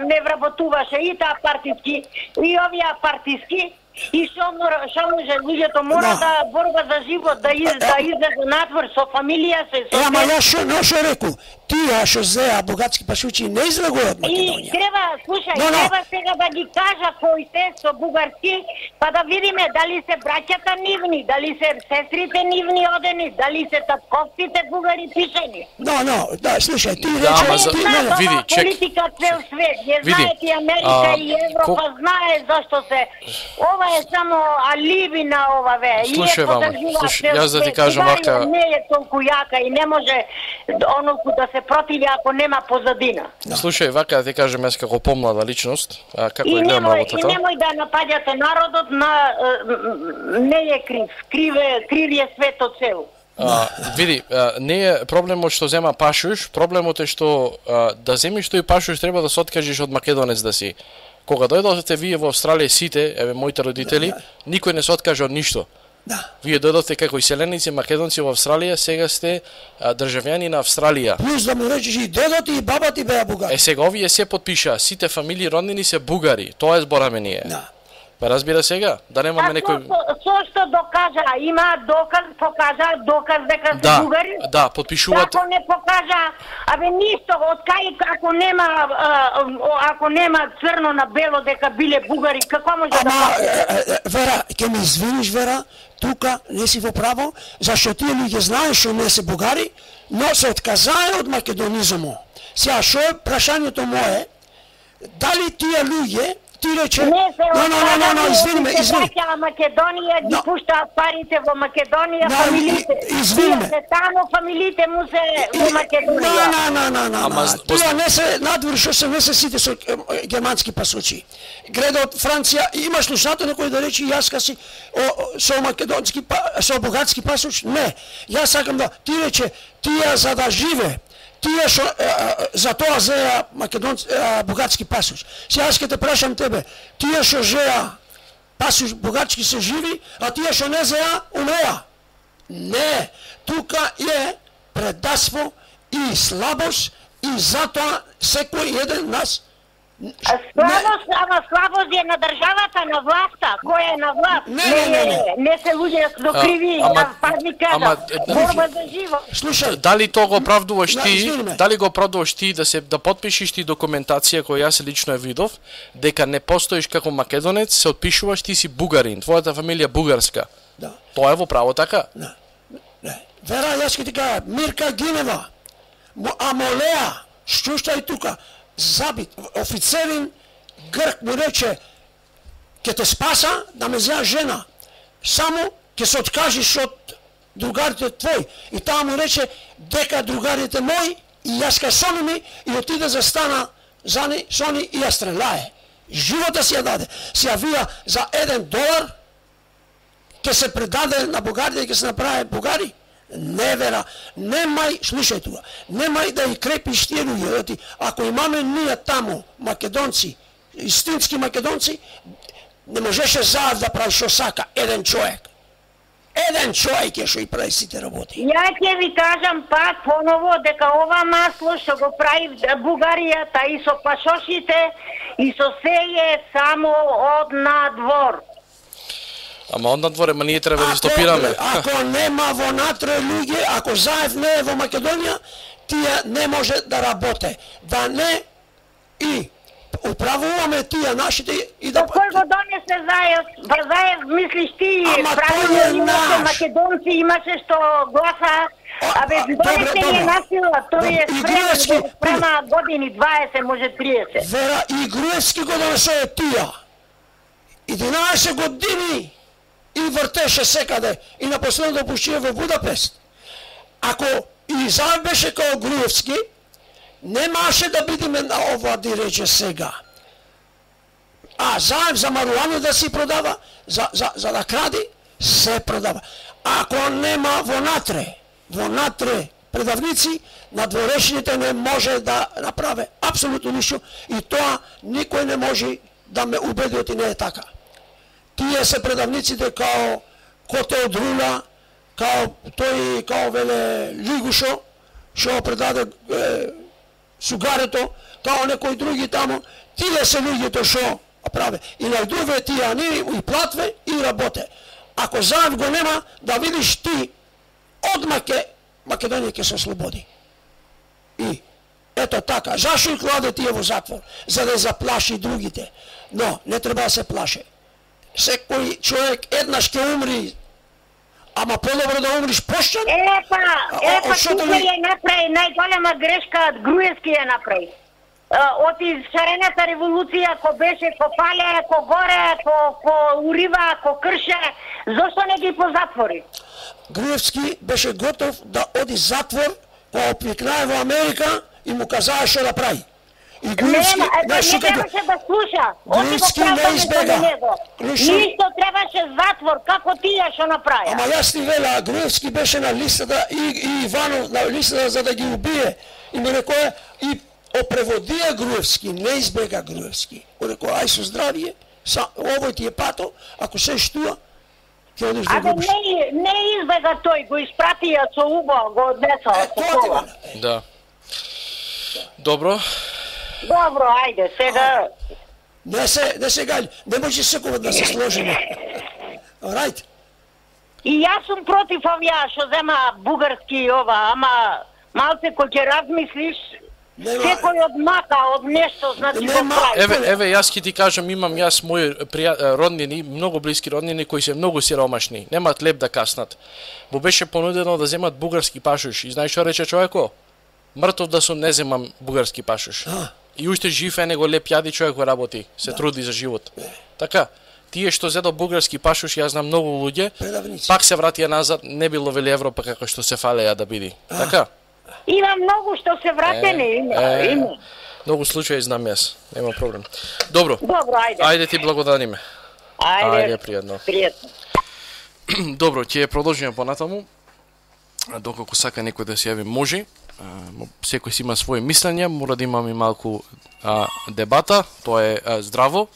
не вработуваше и таа партиски, и овие партиски. И што може, луѓето мора да борба за живот, да излезе надвор со фамилија се. Ама јас што рекол? Тие што зеа богатски пашучи не излегуваат од Македонија. И треба, слушај, треба сега да ги кажа кои се со бугарски, па да видиме дали се браќата нивни, дали се сестрите нивни одени, дали се татковците бугари пишени. Слушај, ти рече, види, чек. Политика цел свет, ја знаете и Америка и Европа знае зашто се. Ова е само алиби на ова ве. Слушај, јас да ти кажам вака. Не е толку јака и не може оноку да се противи ако нема позадина. Слушај, вака да ти кажам јас како помлада личност, како ја гледам работата. И немој да напаѓате народот, не е крив е светот цел. Види, не е проблемот што зема пашуш, проблемот е што да земиш тој пашуш треба да се откажеш од македонец да си. Кога дојдовте вие во Австралија сите, моите родители, никој не се откаже од ништо. Вие дојдовте како иселеници македонци во Австралија, сега сте државјани на Австралија. Плюс да му речеш и дедот и баба ти беа бугари. Сега овие се потпишаа, сите фамилии роднини се бугари. Тоа е збораме ние. Па разбира сега, да немаме некој... Со што докажа, има доказ дека се бугари? Да, потпишуваат... Ако не покажа, ништо, откај ако нема црно на бело дека биле бугари, како може да покаже? Вера, ќе ме извиниш, Вера, тука не си во право, зашто тие луѓе знаеш што не се бугари, но се отказаја од македонизмот. Сега, шо е прашањето мое, дали тие ти рече... извини ме. Македонија, ги пуштаат парите во Македонија, фамилиите. Извини ме. Тамо фамилиите му се во Македонија. Тие не се надвор, што се не се сите со германски пасочи. Греде од Франција, има слушател некој да рече јаска си со македонски, со бугарски пасоч? Не. Јас сакам да ти рече, тие за да живе, тие што за тоа зеа бугарски пасоч. Се јас ќе те прашам тебе, тие што зеа пасоч бугарски се живи, а тие што не зеа умреа. Не, тука е предавство и слабост и затоа секој еден нас Слабост е на државата, на власта, која е на власт. Не се луѓе до криви, пазни кажа, борба за живот. Слушај, дали тоа го оправдуваш ти, дали го оправдуваш ти да потпишеш ти документација која јас лично ја видов, дека не постоиш како македонец, се отпишуваш ти си бугарин, твојата фамилија бугарска. Да. Тоа е во право така? Не. Вера, јас ќе ти кажа, Мирка Гинева, Амолеа, слушај тука, забит, офицерин грк му рече, ќе те спаса да ме зеа жена, само ќе се откажиш од другарите твој. И таа му рече дека другарите мои и јас ка со ними и отиде застана за ни, со ни и ја стрелае. Живота си ја даде. Си ја вија за $1 ќе се предаде на бугарите и ќе се направи бугари. Не вера, немај, слушај тука, немај да и крепиш тие луѓе, ако имаме ние таму македонци, истински македонци, не можеше заед да прави што сака еден човек. Еден човек е што и прави сите работи. Ја ќе ви кажам пак поново дека ова масло што го прави Бугаријата и со пашошите и со се е само од надвор. Ама од надвор, ма ние треба да стопираме. Ако нема во натре луѓе, ако Заев не е во Македонија, тие не може да работе. Да не и управуваме тие нашите и да... Кој го донесе Заев? Заев мислиш ти, правилно имаше македонци, имаше што гласа, донесе ни насила, тој е спрема години 20, може 30. Вера, и Груевски го донесе тија. 11 години и вртеше секаде и на последното пушие во Будапест. Ако и Заев беше као Груевски, немаше да бидеме на ова да рече сега. А Заев за маруану да си продава, за да кради, се продава. Ако нема во натре предавници, надворешните не може да направи апсолутно ништо и тоа никој не може да ме убеди оти не е така. Тие се предавниците као Коте од Рула, као веле Лигушо, што предаде сугарето, као некои други тамо, тие се луѓето што праве. И најдуве тие ани и платве и работе. Ако Заев го нема, да видиш ти, одма Македонија ќе се ослободи. И ето така, зашо и кладе тие во затвор? За да заплаши другите. Но не треба да се плаше. Секој човек еднаш ќе умри, ама подобро да умриш пошчан? Тука ја направи најголема грешка, Груевски ја направи. Од шарената револуција, ко беше, ко пале, ко горе, ко урива, ко крше, зошто не ги позатвори? Груевски беше готов да оди затвор, кога опикнае во Америка и му казаа што да прави. И Груевски не требаше да слуша. Груевски не избега. Ништо требаше затвор, како тие што направи. Ама јас ти вела, Груевски беше на листата и Иванов на листата за да ги убие. И ми рекоа, и опреводија Груевски, не избега Груевски. Рекоа, ај со здравие, овој ти е пато, ако се штуа, ќе одиш да губиш. Не избега тој, го испратија со уго, го однесоа со кола. Да. Добро. Добро, ајде, сега... Не сега, не може секој да се сложиме. Right. И јас сум против овие што зема бугарски ова, ама малце кој ќе размислиш, секој одмака од нешто, значи го прави. Еве, јас ќе ти кажам, имам јас мои роднини, многу блиски роднини кои се многу сиромашни, немаат леп да каснат. Му беше понудено да земат бугарски пашош и знаеш што рече човеко? Мртов да сум, не земам бугарски пашош. И уште жив е него леп јади човек го работи, се труди за живот. Така, тие што зедо бугарски пашуш, јас знам многу луѓе, пак се вратија назад, не би ловели Европа како што се фалеа да биди. Така? Има многу што се вратени, има. Многу случаи знам јас, нема проблем. Добро. Добро, ајде. Ајде ти благодариме. Ајде, пријатно. Пријатно. Добро, ќе продолжиме понатаму. Доколку сака некој да се јави, може. Секој си има своји мислења, мора да имаме малку дебата, тоа е здраво.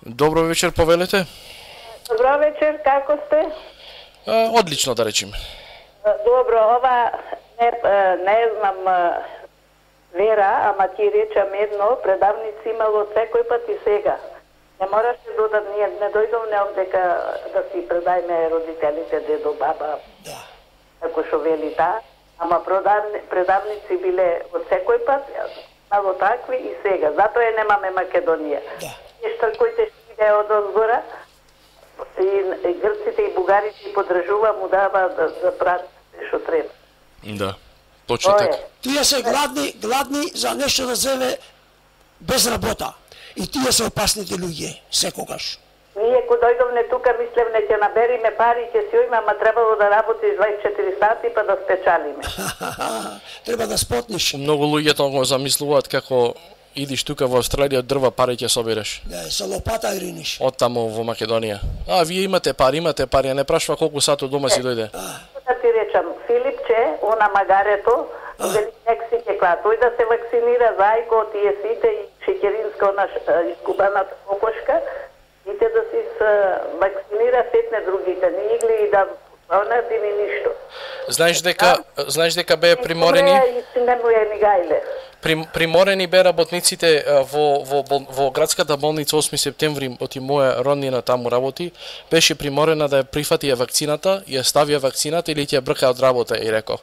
Добро вечер, повелете. Добро вечер, како сте? Одлично, да речеме. Добро, ова не знам вера, ама ти речам едно, предавници имало секој пат и сега. Не мораше додат, ние не дојдовме овдека да си предајме родителите, дедо, баба, како шо вели ама предавници биле од секој пат, мало такви и сега. Затоа е немаме Македонија. Нешто кои те иде од озгора, и грците и бугарите и подржува, му дава да прават што треба. Да, точно така. Тие се гладни за нешто да земе без работа. И тие се опасните луѓе, секогаш. Ние кога дојдовме тука, мислевме ќе набериме пари, ќе си ојме, ама требало да работиш 24 сати па да спечалиме. Треба да спотниш. Многу луѓе тоа го замислуваат како идиш тука во Австралија, дрва пари ќе собереш. Да, со лопата ириниш. Од таму во Македонија. Вие имате пари, а не прашува колку сат од дома си дојде. Да ти речам, Филипче, она магарето, вели Мексике клад, тој да се вакцинира зајко од тие сите и шеќеринска, она искубаната кокошка, и те да си вакцинира сетне другите, не игли и да онати ни ништо. Знаеш дека бе приморени? Приморени бе работниците во градската болница 8 септември, оти моја роднина таму работи, беше приморена да ја прифатија вакцината, ја ставија вакцината или ќе брка од работа, и реков.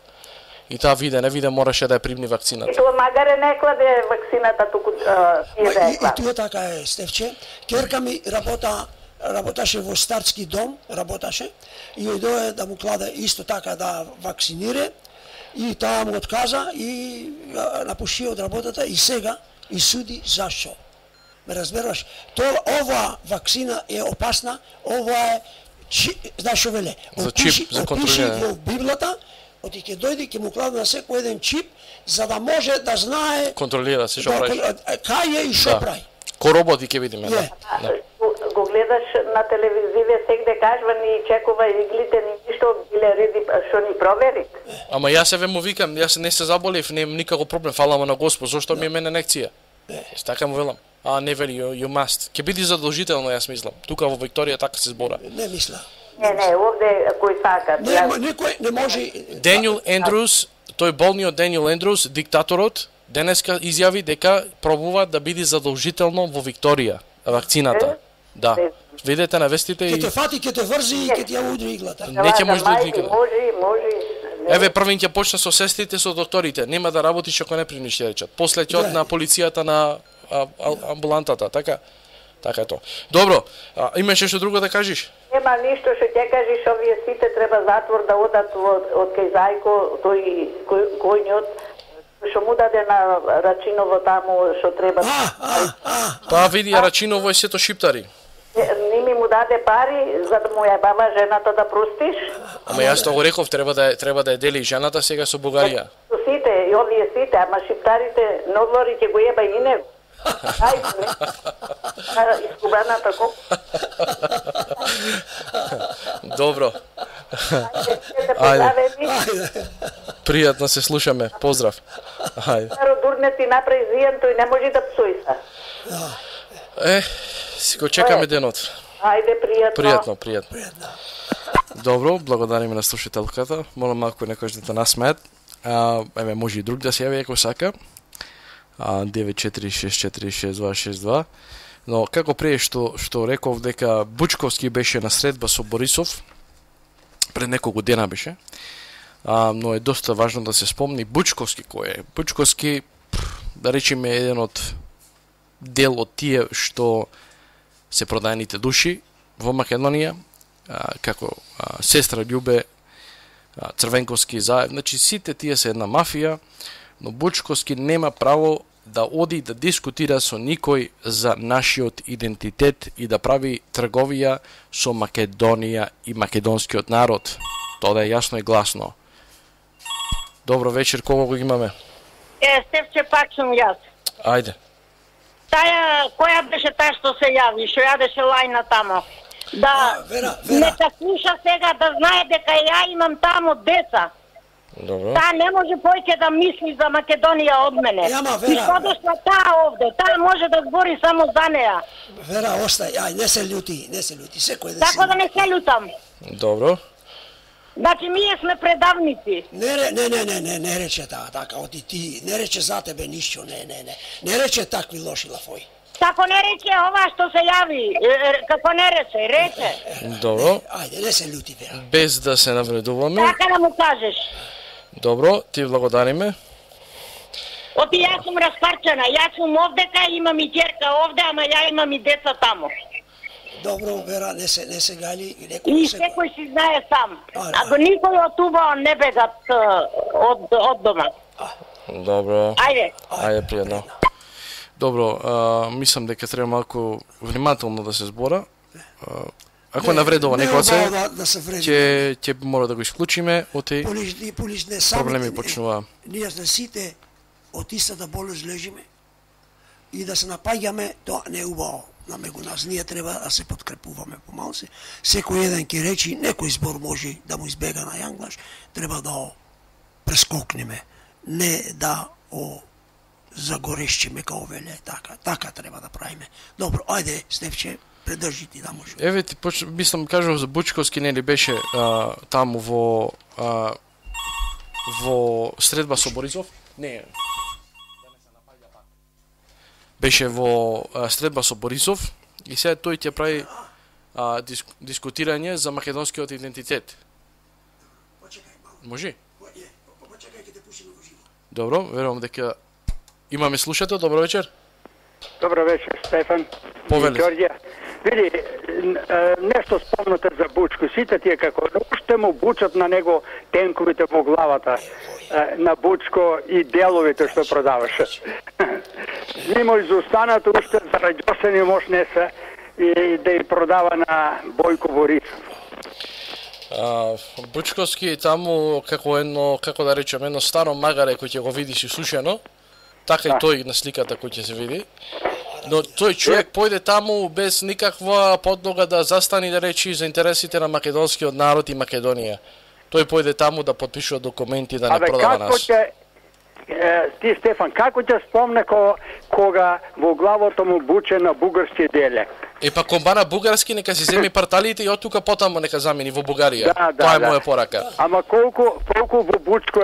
И таа не виде, мораше да ја примни вакцината. И тоа магаре не кладе вакцината туку И тоа така е, Стефче. Керка ми работаше во старски дом, и дојде да му кладе исто така да вакцинире, и таа му отказа и напуши од работата и сега и суди зашо. Ме разбираш? Ова вакцина е опасна, ова е знаеш што веле? За чип, за контролирање. Во Библата, оти ќе дојде, ќе му кладе на секој еден чип, за да може да знае контролира се што прави. Кај е и што прави. Ко роботи ќе видиме, да. Го гледаш на телевизија, сегде кажува ни чекува иглите, ни ништо биле реди што ни провери. Ама јас се му викам, јас не се заболев, немам никако проблем, фалам на Господ, зошто ми е мене инекција? Така му велам. Не вели, you must. Ќе биде задолжително, јас мислам. Тука во Викторија така се збора. Не мисла. Не, овде кој сака. Никој не може. Даниел Ендрус, тој болниот Даниел Ендрус, диктаторот, денеска изјави дека пробува да биде задолжително во Викторија вакцината. Да. Видете на вестите и... Ке те фати, ке те врзи и ке ти ја удри иглата. Не ќе може да никаде. Може. Еве првин ќе почне со сестрите, со докторите. Нема да работиш ако не примиш, ќе речат. После ќе од на полицијата, на амбулантата, така? Така е тоа. Добро, имаш што друго да кажеш? Нема ништо што ќе кажеш, овие сите треба затвор да одат од кај Зајко, тој којниот што му даде на Рачиново таму што треба. Па види, Рачиново е сето шиптари. Ними му даде пари за да му ја бава жената да простиш. Ама јас тоа го реков, треба да ја дели жената сега со Бугарија. Сите, и овие сите, ама шиптарите Нодвори ќе го еба и него. Искубаната коп. Добро. Ајде. Пријатно се слушаме. Поздрав. Ајде. Дурне ти направи зијан, тој не може да псуи се. Си го чекаме денот. Ајде, пријатно. Пријатно. Добро, благодариме на слушателката. Молам малку некој да насмеат. Еве може и друг да се јави ако сака. 946466262. Но како пред што реков дека Бучковски беше на средба со Борисов, пред неколку дена беше, но е доста важно да се спомни Бучковски кој е. Бучковски, да речеме, еден од дел од тие што се продајаните души во Македонија, како сестра Љубе, Црвенковски заедно, значи сите тие се една мафија, но Бучковски нема право да оди да дискутира со никој за нашиот идентитет и да прави трговија со Македонија и македонскиот народ. Тоа да е јасно и гласно. Добро вечер, кого го имаме? Стефче, пак сум јас. Ајде. Таја, која беше таа што се јави, што јадеше лајна тамо? Да, нека слуша сега да знае дека ја имам тамо деца. Добро. Таа не може поќе да мисли за Македонија од мене. И што дошла таа овде? Таа може да збори само за неа. Вера, остај, ај, не се љути, секој да Така да не се љутам. Добро. Значи, ние сме предавници. Не рече така, оти ти, не рече за тебе ништо, не рече такви лоши лафои. Тако не рече ова што се јави, како не рече. Добро. Ајде, не се љути, Вера. Без да се навредуваме. Така да му кажеш. Добро, ти благодариме. Оти јас сум распарчена, јас сум овдека, имам и ќерка овде, ама ја имам и деца тамо. Добро, Вера, не се гали. И секој си знае сам. Ако никој од туба не бегат од дома. Добро. Ајде. Ајде, пријатно. Добро, мислам дека треба малку внимателно да се збора. Ако навредува некој ќе мора да го исклучиме, оти проблеми почнува. Ние да сите од истата болест лежиме и да се напаѓаме, тоа не е убаво. На мегу нас ние треба да се подкрепуваме помалце. Секој еден ќе речи, некој збор може да му избега на јанглаш, треба да прескокнеме, не да загорещиме као веле, така треба да правиме. Добро, ајде, Стефче, предржи ти да може. Еве ти мислам кажав за Бучковски, нели беше таму во средба со Борисов? Не. Беше во средба со Борисов и сега тој ќе прави дискутирање за македонскиот идентитет. Може? Добро, верувам дека имаме слушател. Добро вечер. Добро вечер, Стефан. Повели. Ѓорѓе. Види, нешто спомнате за Бучко. Сите тие како уште му бучат на него тенковите во главата на Бучко и деловите што продаваше. Нимо изостанат уште зараѓосени мошнеса и да ја продава на Бојко Борисов. Бучковски таму како да речеме, едно старо магаре кој ќе го видиш и сушено, така и тој на сликата кој ќе се види. Но тој човек појде таму без никаква подлога да застани да речи за интересите на македонскиот народ и Македонија. Тој појде таму да потпишува документи да не продава нас. Ти, Стефан, како ќе спомне кога во главото му буче на бугарски диалект? Па комбана бугарски, нека си земи парталите и од тука потаму нека замени во Бугарија. Тоа е моја порака. Ама колку во Бучко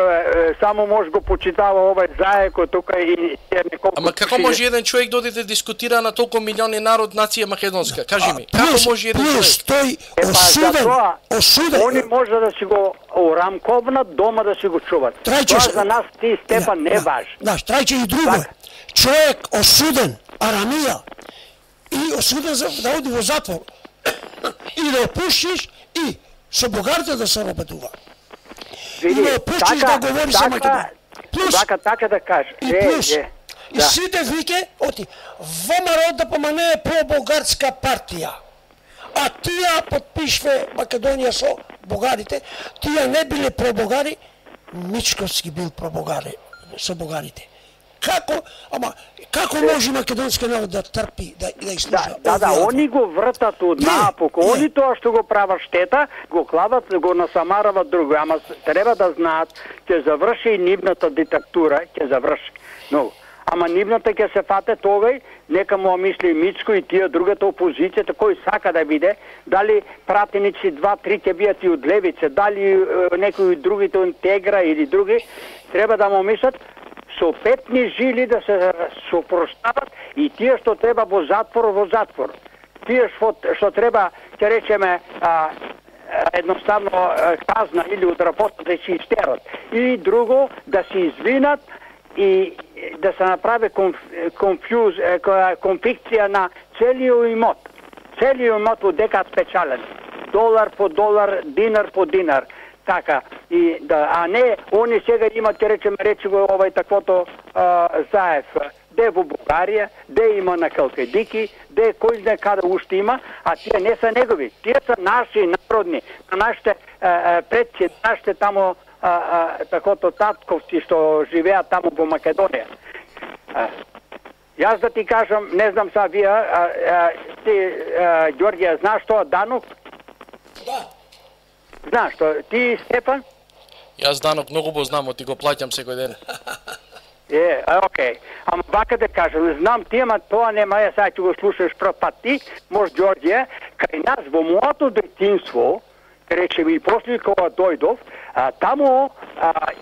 само може го почитава овај заеко тука и неколку. Ама како може еден човек да оди да дискутира на толку милиони народ нација македонска? Кажи ми, како може еден човек? Тој осуден. Они може да си го урамковнат дома да си го чуват. Тоа за нас, ти, Стефан, не важно. Знаеш, трајче и друго. Човек осуден, арамија, и осуден да оди во затвор и да опуштиш и со бугарите да се работува. И да опуштиш да говори за Македонија. Плюс, така да кажа. И плюс, и сите вике, оти, ВМРО да помане про-бугарска партија. А тие подпишве Македонија со бугарите, тие не биле про-бугари, Мичковски бил про-бугари со бугарите. Како може македонски народ да трпи, да изслуша? Да, они го вртат од напук. Они тоа што го прават штета, го клават, го насамарават друго. Ама треба да знаат, ќе заврши и нивната диктатура, ќе заврши. Но, ама нивната ќе се фате тогај, нека му мисли Мицко и тие другата опозицијата, кој сака да биде, дали пратеници 2-3 ќе бијат и од левице, дали некои другите од Тегра или други, треба да му мислат со петни жили да се сопростават и тие што треба во затвор. Тие што треба, ќе речеме, едноставно казна или од работа да се истерат. И друго, да се извинат и да се направи конфикција на целиот имот. Целиот имот во дека спечален. Долар по долар, динар по динар. Така, а не, они сега имат, ќе речеме, речи го овај таквото Заев, де во Бугарија, де има на Калкедики, де кој знае каде уште има, а тие не се негови. Тие се наши народни, на нашите предци, нашите тамо такото татковци што живеат таму во Македонија. Јас да ти кажам, не знам са вие, ти, Ѓорѓе, знаеш тоа данок? Да. Знаеш тоа, ти, Стефан? Јас данок многу го знам, ти го плаќам секој ден. Окей. Ама вака да кажам, знам ти, ама тоа нема, ја сега ќе го слушаш прв пат ти, може Ѓорѓе, кај нас во моето детинство, речем и после кога дојдов, таму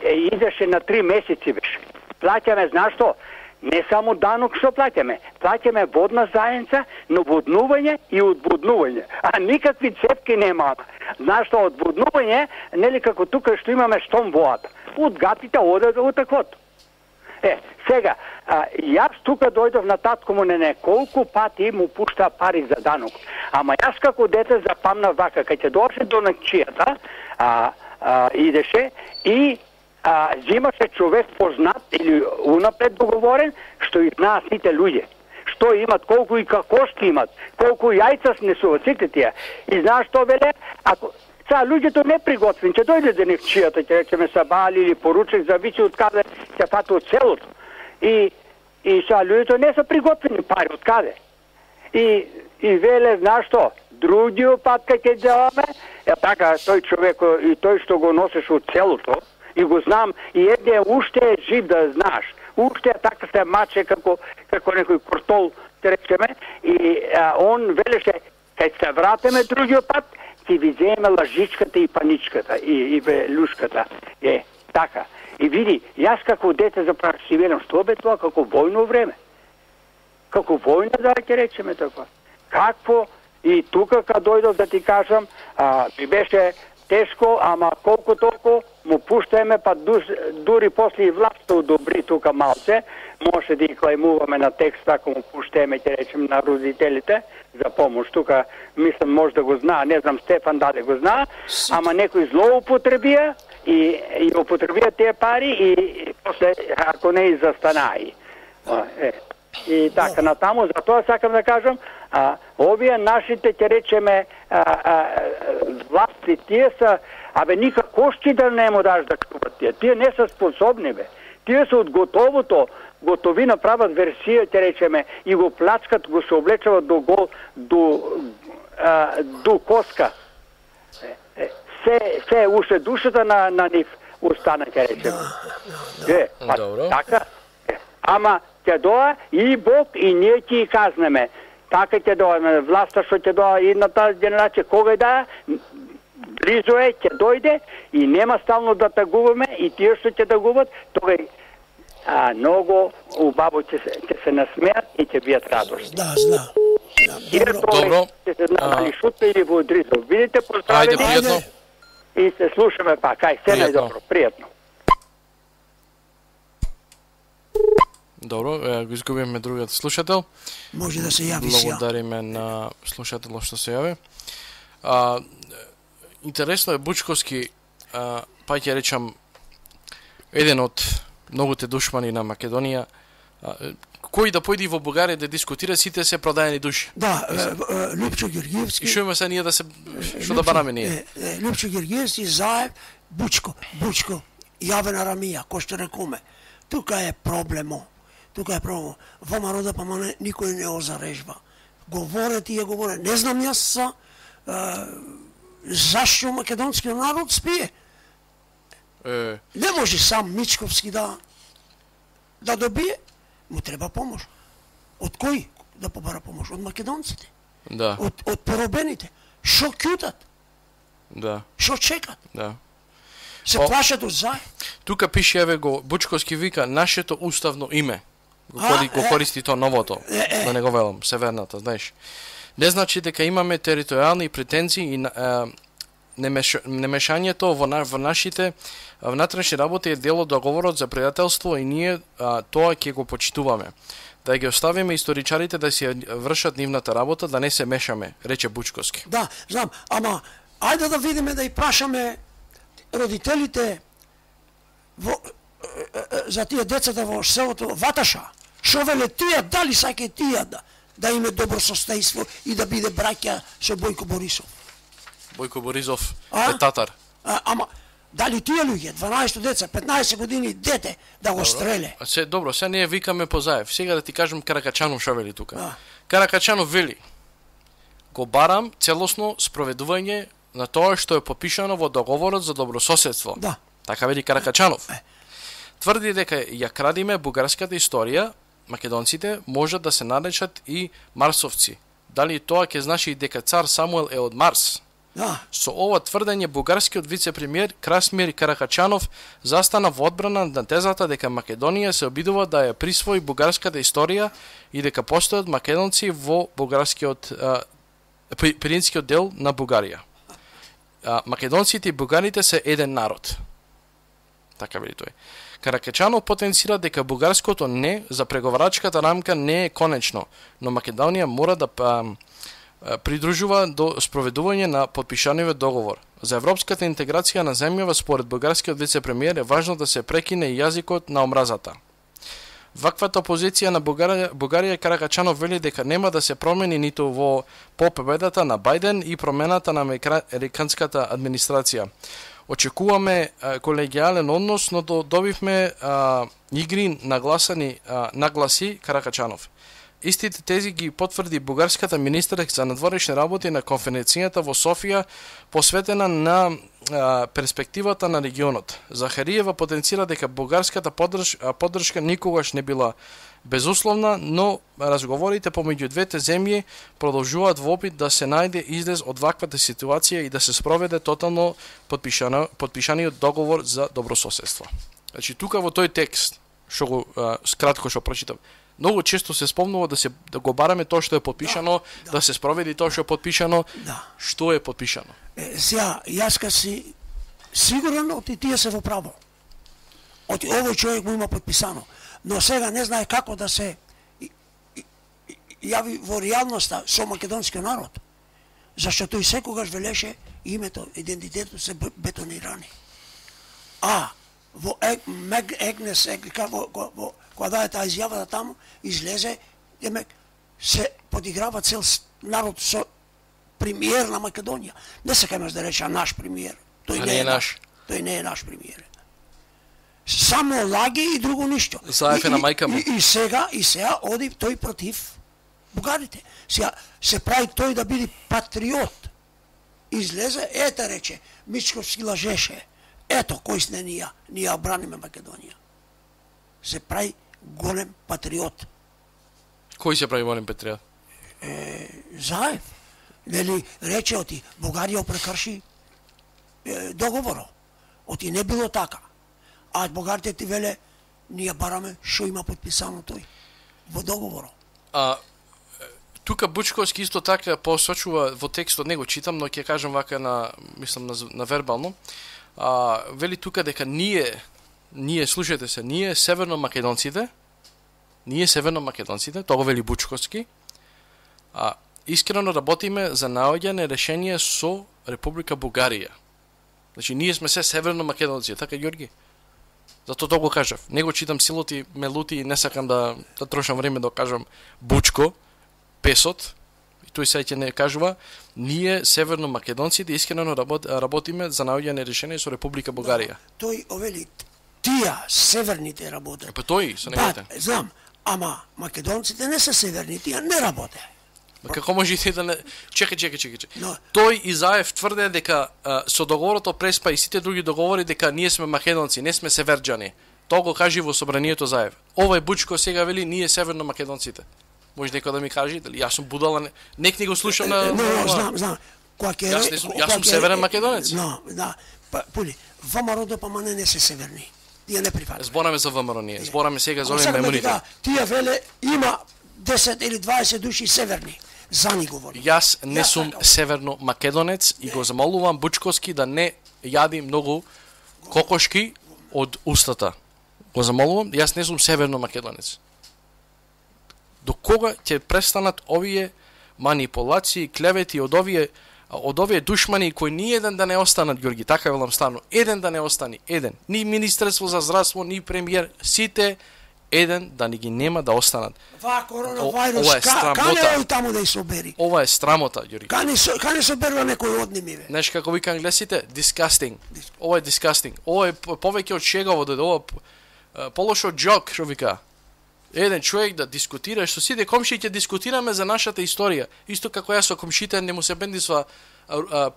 идеше на 3 месеци беше. Плаќаме, знаеш што? Не само данок што плаќаме водна заедница, наводнување и одводнување. А никакви цепки нема. Знаеш што, одводнување, нели како тука што имаме штом воата. Од гатите оде до таквото. Сега, јас тука дојдов на татко му неколку пати му пушта пари за данок. Ама јас како дете запамнав вака, кај ќе дојде до накчијата, идеше и взимаше човек познат или унапред договорен, што и знаат сите луѓе. Што имат, колку и како што имат, колку јајца снесуват, сите тие. И знаеш што веле? Ако сега луѓето не приготвени, ќе дојде до некчијата, ќе речеме сабали или поручек, зависи од каде ќе фати од селото. И сега луѓето не се приготвени пари од каде. И веле, знаеш што? Другиот пат кај ќе деламе, така, тој човек и тој што го носеше од селото, и го знам, и едне уште е жив да знаеш. Уште така се маче како некој кортол, те речеме, и он велеше, кај се вратиме другиот пат, ќе ви земе лажичката и паничката, и люшката. Така. И види, јас како дете заправо си велам, што бе тоа, како војно време. Како војна, да ќе речеме така. Какво, и тука кога дојдов да ти кажам, ми беше тешко, ама колку толку му пуштаеме, па дури после и власта одобри тука малце, може да и клајмуваме на текст, ако му пуштаеме, ќе речем, на родителите за помош. Тука, мислам, може да го знае, не знам, Стефан даде го знае, ама некој злоупотребија и употребија тие пари и после, ако не и застанаи. И така натаму, затоа сакам да кажам, овие нашите, ќе речеме, власти, тие са, никако шти да не му даш да чуват тие. Тие не са способни, бе. Тие са од готовото, готовина прават версија, ќе речеме, и го плачкат, го се облечават до коска. Се уште душата на нив остана, ќе речеме. Добро. Така, ама ќе доа и Бог и ние ќе казнеме. Така ќе доа власта што ќе доа едната генерација, кога да близо е, ќе дојде и нема стално да тагуваме и тие што ќе тагуват, тогај многу убаво ќе се насмеат и ќе бијат радост. Да, знам. Добро. Ќе се надали шутка или во Дризов. Видите, поздравени. Ајде, пријатно. И се слушаме пак. Ај, се најдобро. Пријатно. Добро, го изгубиме другиот слушател. Може да се јави сега. Благодариме на слушателот што се јави. Интересно е Бучковски, па ќе речам, еден од многуте душмани на Македонија, кој да појде во Бугарија да дискутира, сите се продаени души. Да, Лјупчо Георгиевски. И што има се ние да се, што да бараме ние? Лјупчо Георгиевски, Заев, Бучко, Јавен Арамија, кој што рекоме. Тука е проблемо. Во народа па никој не озарежба. Говоре тие. Не знам јас зашто македонскиот народ спие. Не може сам Мичковски да добие. Му треба помош. Од кој да побара помош? Од македонците. Да. Од поробените. Шо кјутат? Да. Шо чекат? Да. Се плашат од Заев. Тука пише, еве го, Бучковски вика, нашето уставно име. Го користи то новото, да не го велам, северната, знаеш. Не значи дека имаме територијални претензии и немешањето во нашите внатрешни работи е дел од договорот за пријателство и ние тоа ќе го почитуваме. Да ги оставиме историчарите да си вршат нивната работа, да не се мешаме, рече Бучковски. Да, знам, ама ајде да видиме да и прашаме родителите за тие децата во селото Ваташа. Шо веле тие, дали саке тие да име добро состојство и да биде браќа со Бојко Борисов? Бојко Борисов е татар. Ама дали тие луѓе, 12 деца, 15 години дете да го стреле? Добро, сега ние викаме по Заев. Сега да ти кажам Каракачанов шо вели тука. Каракачанов вели: го барам целосно спроведување на тоа што е подпишано во договорот за добрососедство. Да. Така вели Каракачанов. Тврди дека ја крадиме бугарската историја, македонците можат да се наречат и марсовци. Дали тоа ќе значи дека цар Самуел е од Марс? Да. Со ова тврдење бугарскиот вице-премиер Красимир Каракачанов застана во одбрана на тезата дека Македонија се обидува да ја присвои бугарската историја и дека постојат македонци во бугарскиот пиринскиот дел на Бугарија. Македонците и бугарите се еден народ. Така вели тој. Каракачанов потенцира дека бугарското не за преговарачката рамка не е конечно, но Македонија мора да придружува до спроведување на подпишаниот договор. За европската интеграција на земјава според бугарскиот вице-премиер е важно да се прекине јазикот на омразата. Ваквата позиција на Бугарија Каракачанов вели дека нема да се промени ниту во победата на Бајден и промената на американската администрација. Очекуваме колегијален однос, но добивме игри нагласи Каракачанов. Истите тези ги потврди бугарската министерка за надворешни работи на конференцијата во Софија посветена на перспективата на регионот. Захариева потенцира дека бугарската поддршка никогаш не била безусловна, но разговорите помеѓу двете земји продолжуваат во опит да се најде излез од ваквата ситуација и да се спроведе тотално подпишаниот договор за добрососедство. Значи тука во тој текст, што го скратко што прочитав, многу често се спомнува да го бараме тоа што е подпишано, да се спроведи тоа што е подпишано. Што е подпишано? Сега, јас си сигурен оти тие се во право. Оти овој човек му има подписано. Но сега не знае како да се јави во реалноста со македонскиот народ. Зашто тој секогаш велеше името, идентитетот се бетонирани. Во Егнес, кога даде таа изјавата таму, излезе, се подиграва цел народ со премиер на Македонија. Не се кемеш да рече наш премиер. Тој не е наш. Тој не е наш премиер. Само лаги и друго ништо. Заев е на мајка му. И сега оди тој против бугарите. Сега се прави тој да биде патриот. Излезе, рече, Мичковски лажеше. Ето, кој сме ние ја браниме Македонија. Се прави голем патриот. Кој се прави голем патриот? Заев. Нели, рече оти, Бугарија прекрши договорот. Оти не било така. А бугарите ти веле, ние бараме што има подписано тој во договорот. Тука Бучковски исто така посочува во текстот, не го читам, но ќе кажам вака на вербално. Вели тука дека ние слушате се, ние северно-македонците, тоа го вели Бучковски, искрено работиме за наоѓање решение со Република Бугарија. Значи, ние сме се северно-македонци, така, Ѓорги? Зато тоа го кажав. Не го читам силоти, ме лути и не сакам да трошам време да кажам Бучко, Песот, и тој сега ќе не кажува, ние северно-македонците искрено работиме за наоѓање решение со Република Бугарија. Тој овели, тие северните работат. Тој со неговите. Знам, ама македонците не се северни, тие не работе. Како можете да не... Чекај. Тој и Заев тврде дека со договорот о Преспа и сите други договори дека ние сме македонци, не сме северџани. Тоа го кажи во собранието Заев. Овој Бучко сега вели ние северно-македонците. Може некој да ми каже дали јас сум будала, нек не го слушам на... Знам. Јас сум северен македонец. Да. Пули, ВМРО ДПМН не се северни. Тие не прифатат. Збораме за ВМРО ние. Збораме сега за овие меморите. Тие веле има 10 или 20 души северни. За ни говори. Јас не сум северно македонец и го замолувам Бучковски да не јади многу кокошки од устата. Го замолувам, јас не сум северно македонец. До кога ќе престанат овие манипулации, клевети од овие душмани кои ни еден да не останат, Ѓорги, така велам стану, еден да не остани, еден. Ни Министерство за здравство, ни премиер, сите Еден да ни ги нема да останат. Ова коронавирус, кане таму да собери. Ова е срамота, Ѓорѓе. Кане соберува некој од ними, бе. Знаеш како вика англесите? Disgusting. Ова е disgusting. Ова е повеќе од шегаво, ова полошо джок, што вика. Еден човек да дискутира, што сите комши ќе дискутираме за нашата историја. Исто како јас со комшите не му се бендисва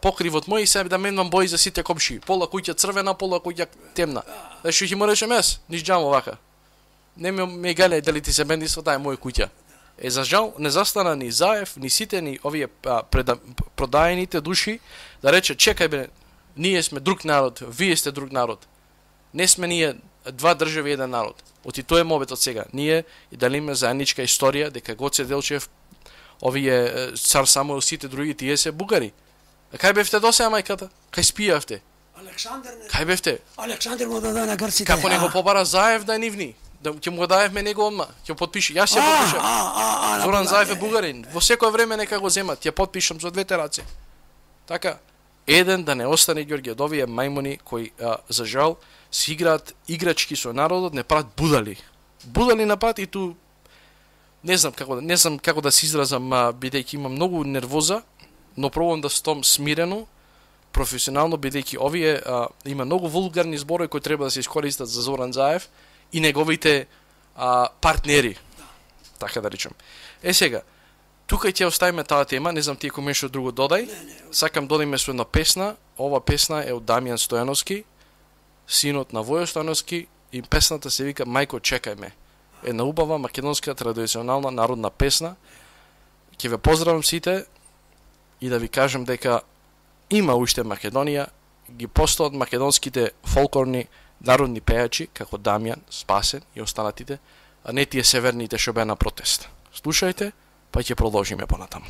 покривот мој и се да менувам бои за сите комши. Пола куќа црвена, пола куќа темна. Зашто ќе му речем јас, ниш џамо вака. Не ме гале дали ти се бендисва, таа е моја куќа. За жал не застана ни Заев, ни сите ни овие продајените души да рече чекај бе, ние сме друг народ, вие сте друг народ. Не сме ние два држави еден народ. Оти тоа е мобетот сега. Ние и делиме заедничка историја дека Гоце Делчев, овие цар Самуил, сите други тие се бугари. А кај бевте до сега мајката? Кај спијавте? Кај бевте? Александар му даде на грците. Како него побара Заев да е нивни? Да ќе му го даевме него одма. Ќе потпише. Јас ќе потпишам. Зоран Заев е бугарин. Во секое време нека го земат. Ќе потпишам со двете раце. Така, еден да не остане Ѓорѓе од овие мајмуни кои за жал си играат играчки со народот, не прават будали. Будали напад и ту не знам како да се изразам, бидејќи имам многу нервоза, но пробувам да стом смирено, професионално, бидејќи овие има многу вулгарни зборови кои треба да се искористат за Зоран Заев и неговите партнери. Така да речем. Сега, тука ќе оставиме таа тема, не знам ти ако нешто друго додај. Сакам додиме со една песна. Ова песна е од Дамјан Стојановски, синот на Војо Стојановски, и песната се вика Мајко чекај ме. Една убава македонска традиционална народна песна. Ќе ве поздравам сите и да ви кажам дека има уште Македонија, ги постојат македонските фолклорни народни пејачи како Дамјан, Спасен и останатите, а не тие северните што беа на протест. Слушајте, па ќе продолжиме понатаму.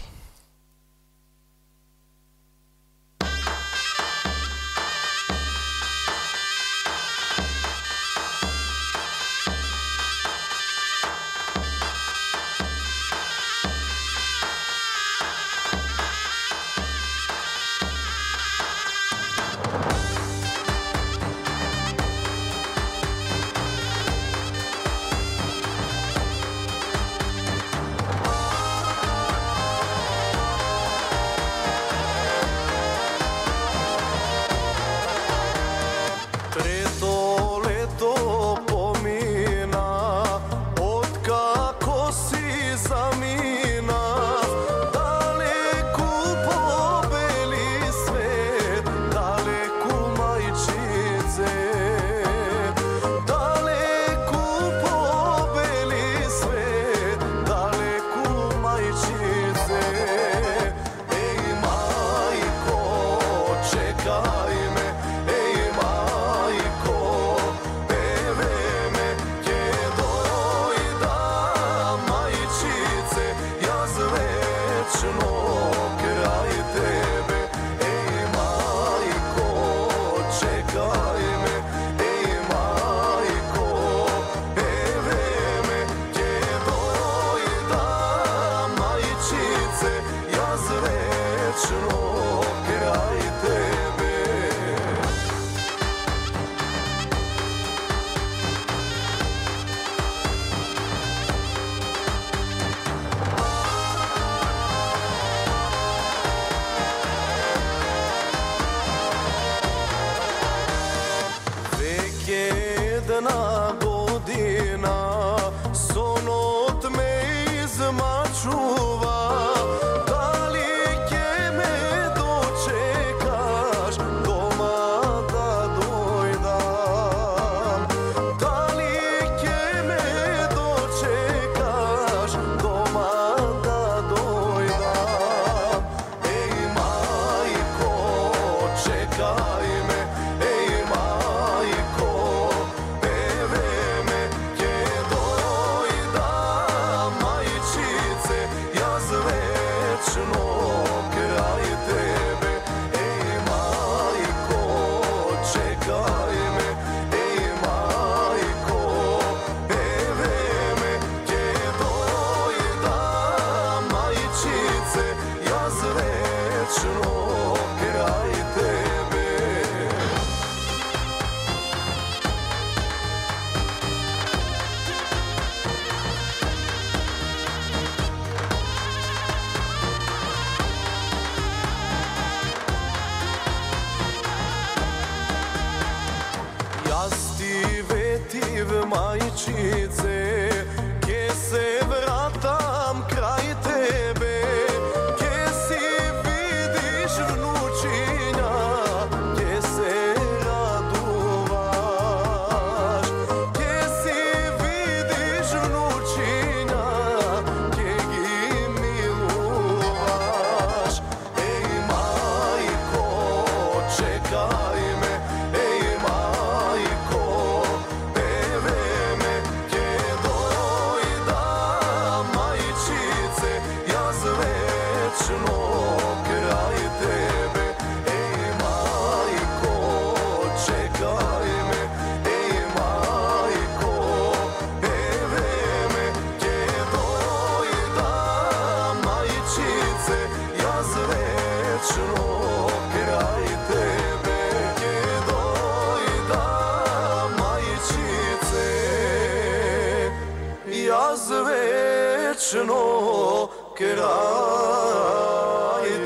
вечно крај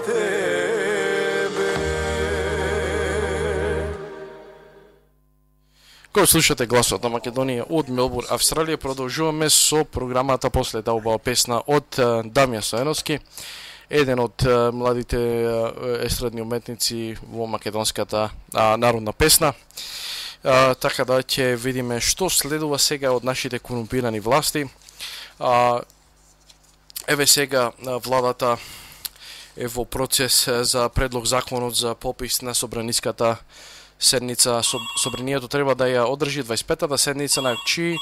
тебе. Кој слушате гласот на Македонија од Мелбурн, Австралија, продолжуваме со програмата после таа убава песна од Дамјан Стојановски, еден од младите естрадни уметници во македонската народна песна. Така да ќе видиме што следува сега од нашите корумпирани власти. Еве сега владата е во процес за предлог законот за попис на собраниската седница. Собранието треба да ја одржи 25-та седница, на чиј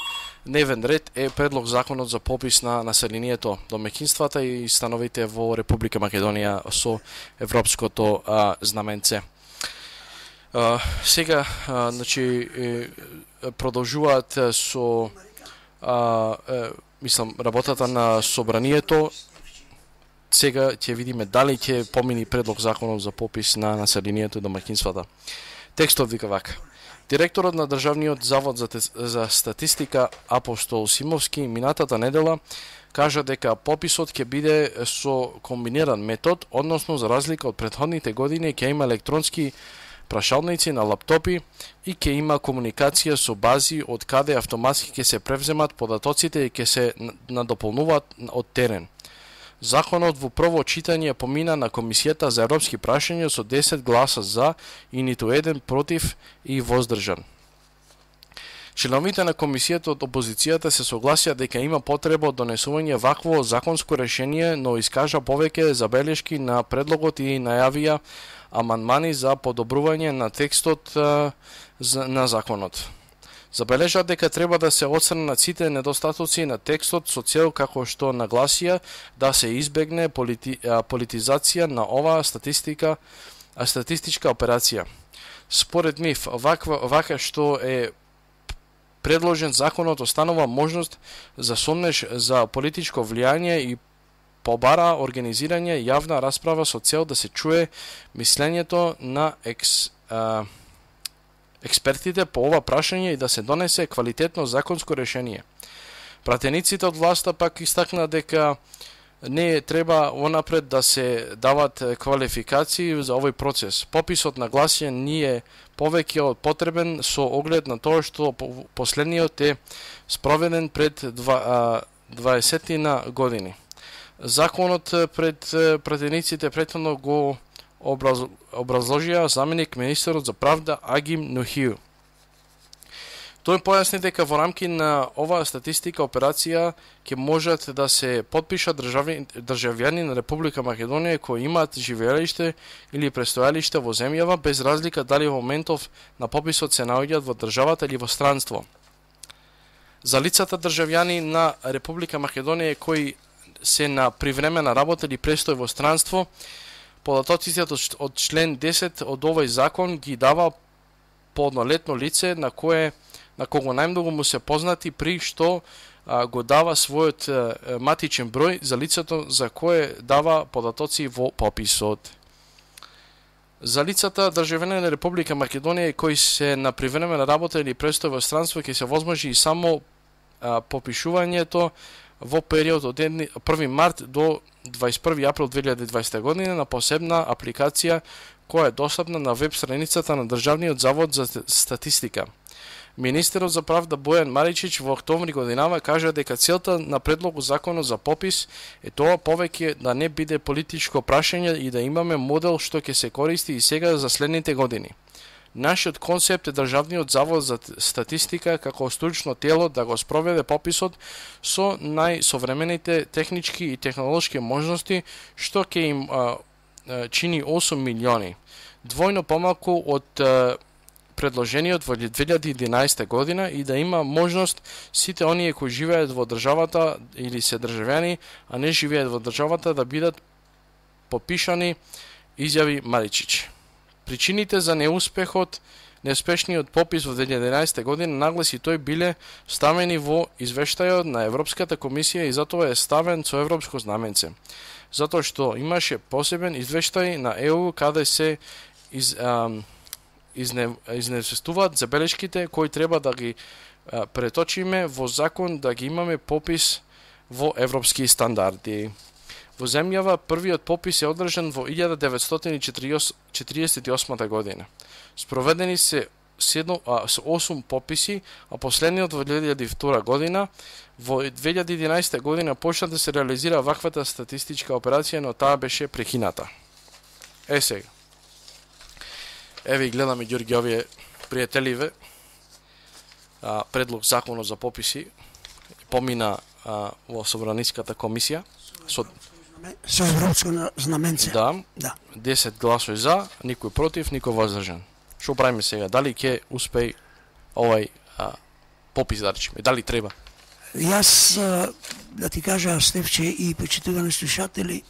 дневен ред е предлог законот за попис на населението, домаќинствата и становите во Република Македонија со европското знаменце. Сега, значи, продолжуваат со работата на собранието. Сега ќе видиме дали ќе помини предлог законот за попис на населението и домаќинствата. Текстот вика вака. Директорот на Државниот завод за статистика Апостол Симовски минатата недела кажа дека пописот ќе биде со комбиниран метод, односно за разлика од претходните години ќе има електронски прашалници на лаптопи и ќе има комуникација со бази од каде автоматски ќе се превземат податоците и ќе се надополнуваат од терен. Законот во прво читање помина на Комисијата за европски прашања со 10 гласа за и ниту еден против и воздржан. Членовите на комисијата од опозицијата се согласија дека има потреба од донесување вакво законско решение, но искажа повеќе забелешки на предлогот и најавија амандмани за подобрување на текстот на законот. Забележа дека треба да се отстранат сите недостатоци на текстот со цел, како што нагласија, да се избегне политизација на оваа статистичка операција. Според нив, вака што е предложен законот останува можност за сомнеш за политичко влијание и побара организирање јавна расправа со цел да се чуе мислењето на експертите по ова прашање и да се донесе квалитетно законско решение. Пратениците од власта пак истакна дека не треба онапред да се дават квалификации за овој процес. Пописот на гласје ние повеќе од потребен со оглед на тоа што последниот е спроведен пред 20 години. Законот пред пратениците претhodно го образложија заменик министерот за правда Агим Нухију. Тој појасни дека во рамки на оваа статистика операција ќе можат да се потпишат државјани на Република Македонија кои имаат живеелиште или престојалиште во земјава без разлика дали во моментов на пописот се наоѓаат во државата или во странство. За лицата државјани на Република Македонија кои се на привремена работа или престој во странство, податоците од член 10 од овој закон ги дава полнолетно лице на кого најмногу му се познати при што го дава својот матичен број за лицето за кое дава податоци во пописот. За лицата државјани на Република Македонија кои се на привремена работа или престој во странство ќе се возможи и само попишувањето во период од 1 март до 21 април 2020 година на посебна апликација која е достапна на веб страницата на Државниот завод за статистика. Министерот за правда Бојан Маричич во октомври годинава кажа дека целта на предлогот законот за попис е тоа повеќе да не биде политичко прашање и да имаме модел што ќе се користи и сега за следните години. Нашиот концепт е Државниот завод за статистика како стручно тело да го спроведе пописот со најсовремените технички и технолошки можности што ќе им чини 8 милиони, двојно помалку од предложениот во 2011 година и да има можност сите оние кои живеат во државата или се државјани, а не живеат во државата да бидат попишани, изјави Маричич. Причините за неуспешниот попис во 2011 година нагласи тој биле ставени во извештајот на Европската комисија и затоа е ставен со европско знаменце. Затоа што имаше посебен извештај на ЕУ каде се изнесестуваат забелешките кои треба да ги преточиме во закон да ги имаме попис во европски стандарди. Во земјава првиот попис е одржан во 1948 година. Спроведени се 8 пописи, а последниот во 2002 година. Во 2011 година почна да се реализира ваквата статистичка операција, но таа беше прекината. Сега. Еве гледаме Ѓорги овие пријателиве. Предлог законот за пописи помина во Собраниската комисија со европско знаменце. Да. 10 гласови за, никој против, никој воздржан. Што правиме сега? Дали ќе успее овај попис да речеме? Дали треба? Јас да ти кажа, Стефче и почитувани слушатели,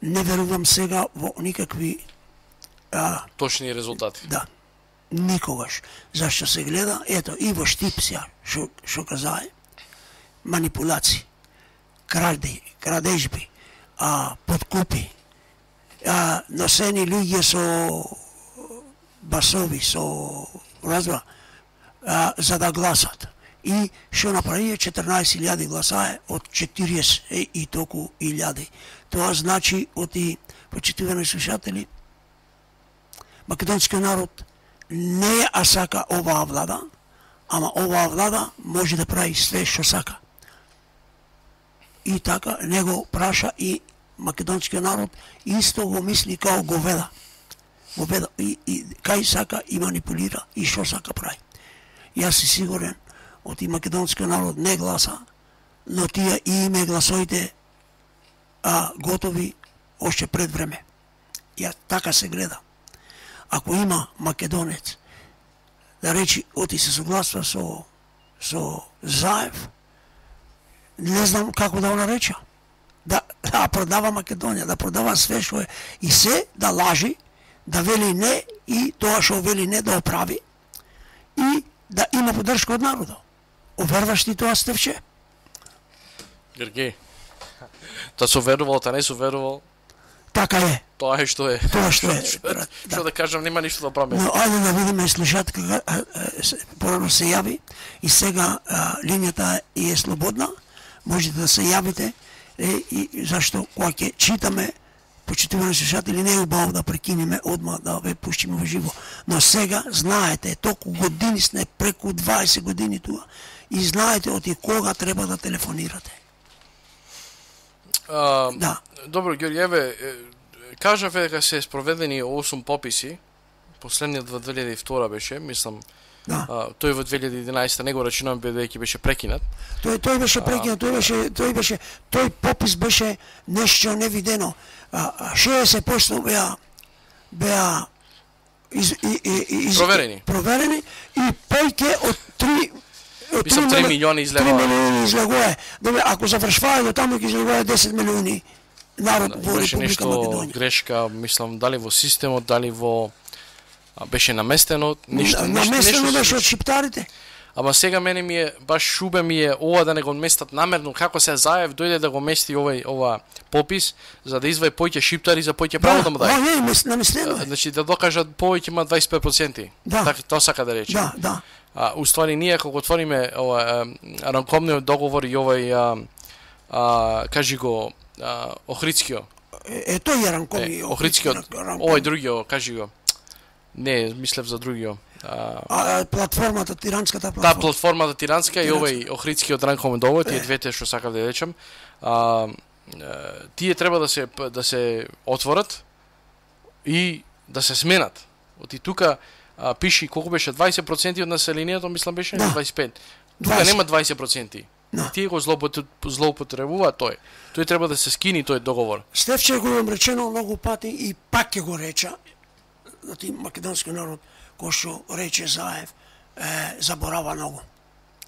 не верувам сега во никакви точни резултати. Да. Никогаш. Зашто се гледа, ето, и во Штипсија, што казае, манипулации, крадежби, подкупи, носени луѓе со басови, со разбра, за да гласат. И што направија 14.000 гласае од 40 и толку илјади. Тоа значи, оти почитувани слушатели, македонскиот народ не ја сака оваа влада, ама оваа влада може да прави све што сака. И така не го праша и македонскиот народ исто го мисли као говеда. И кај сака и манипулира и што сака прави. Јас си сигурен, оти македонскиот народ не гласа, но тие и име гласоите готови още пред време. Ја така се гледа. Ако има македонец да речи оти се согласува со Заев, не знам како да го нареча. Да продава Македонија, да продава све што е и се да лажи, да вели не и тоа што вели не да оправи и да има поддршка од народот. Оверваш ти тоа, Стефче? Гергей, та со верувал, та не со верувал. Така е. Тоа е што е. Тоа што е. Што да кажам, нема ништо да правиме. Но ајде да видиме слушатка порано се јави и сега линијата е слободна. Можете да се јавите и зашто кога ќе читаме почитувани слушатели не е убаво да прекинеме одма да ве пуштиме во живо. Но сега знаете, толку години сме, преку 20 години туа и знаете од кога треба да телефонирате. Да. Добро, Ѓорѓе, еве, кажаве дека се спроведени 8 пописи, последниот во 2002 беше, мислам, тој во 2011 не го рачунам бидејќи беше прекинат. Тој беше прекинат, тој попис беше нешто невидено. 60% беа проверени и повеќе од 3 милиони излегува. 3 милиони излегува. Добре, ако завршваја до таму ќе излегува 10 милиони народ во Република Македонија. Нешто грешка, мислам, дали во системот, дали во беше наместено, нешто беше од шиптарите. Ама сега мене ми е баш шубе ми е ова да не го местат намерно, како се Заев дојде да го мести ова попис за да изваи поќе шиптари за поќе право да му даде. Да, наместено. Значи да докажат повеќе има 25%. Така тоа сака да рече. Да. Уствари ние кога отвориме ова ранковниот договор и овај кажи го Охридскиот. Тој е ранковни. Охридскиот. Овај другиот, кажи го. Не, мислев за другиот. Платформата, тиранската платформа. Да, платформата тиранска и овај Охридскиот ранковен договор, тие двете што сакав да речам. Тие треба да се отворат и да се сменат. Оти тука пиши колку беше 20% од населението, мислам беше 25. Тука нема 20%. Тие го злоупотребуваат тој. Тој треба да се скини тој договор. Стефче го имам речено многу пати и пак ќе го реча. Оти македонски народ кој што рече Заев заборава многу.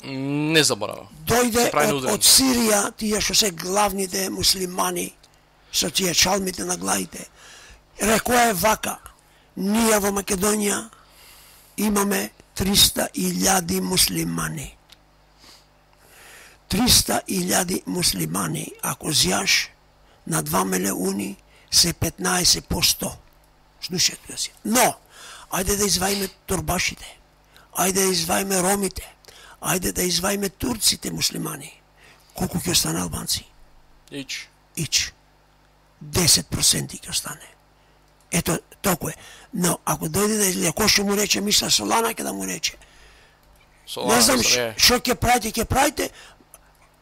Не заборава. Дојде од Сирија, тие што се главните муслимани со тие чалмите на главите. Рекоа е вака: ние во Македонија имаме 300.000 муслимани. 300.000 муслимани, ако зјаш на 2 милиони се 15%. Слушате си. Но, ајде да изваиме торбашите, ајде да изваиме ромите, ајде да изваиме турците муслимани, колку ќе остане албанци? Ич. 10% ќе остане. Ето, толку е. Но, ако дојде да излезе, кој што му рече, мисля, Солана ќе да му рече. Не знам што ќе правите,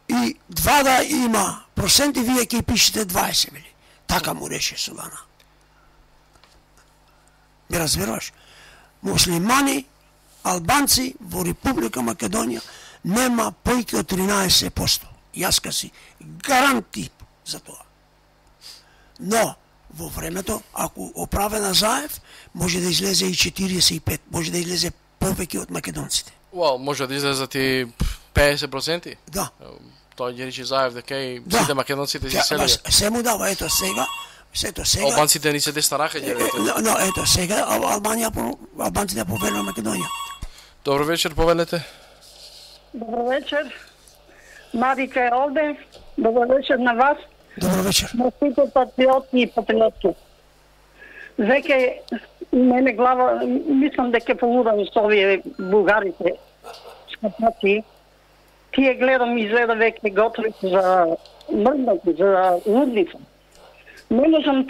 и 2 да има проценти, вие ќе пишете 20, били. Така му рече Солана. Ме разбираш? Муслимани, албанци во Република Македонија нема појќе од 13%. Јас ка си гаранти за тоа. Но, во времето, ако оправе на Заев, може да излезе и 45, може да излезе повеќе од македонците. Може да излезат и 50%? Да. Тој ги рече Заев дека и сите македонците се селија. Се му дава, ето сега. Албанците ни се десна рака ќе рече. Но ето сега албанците повелува Македонија. Добро вечер, повелете. Добро вечер. Марика е овде. Добро вечер на вас. Добро вечер. На сите патриоти и патриотки. Веќе мене глава, мислам дека полудам со овие бугарите, скапаци. Тие гледам изгледа веќе готови за мрднати, за лудница. Не можам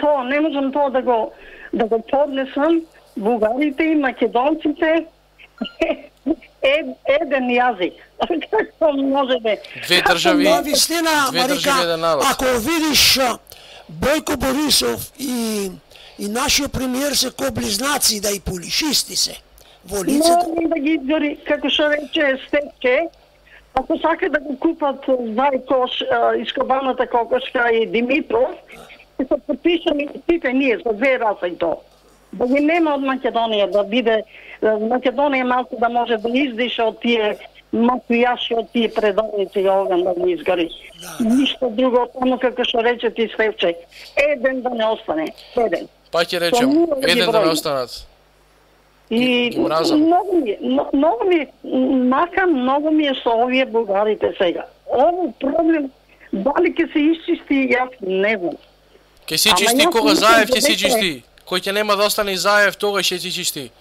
тоа да го поднесам. Бугарите и македонците еден јазик. Како може да... Две држави, Марика, еден народ. Ако видиш Бојко Борисов и нашиот премиер се ко близнаци, да и полишисти се во лицето. Можем да ги изгори, како што рече Степче, ако сака да го купат Зајкош, Искобаната Кокошка и Димитров, се подпишаме сите ние со 2 раса и тоа. Да ги нема од Македонија, да биде Македонија малку да може да издиша од тие мафијаши, од тие предавници и оган да ги изгори. Ништо друго, само како што рече ти Стефче, еден да не остане, еден. Па ќе речем, еден да не останат. И многу ми е со овие бугарите сега. Ово проблем, дали ќе се исчисти, јас не знам. Ќе се чисти кога Заев ќе се чисти. Кој ќе нема да остане Заев, тогаш ќе се чисти.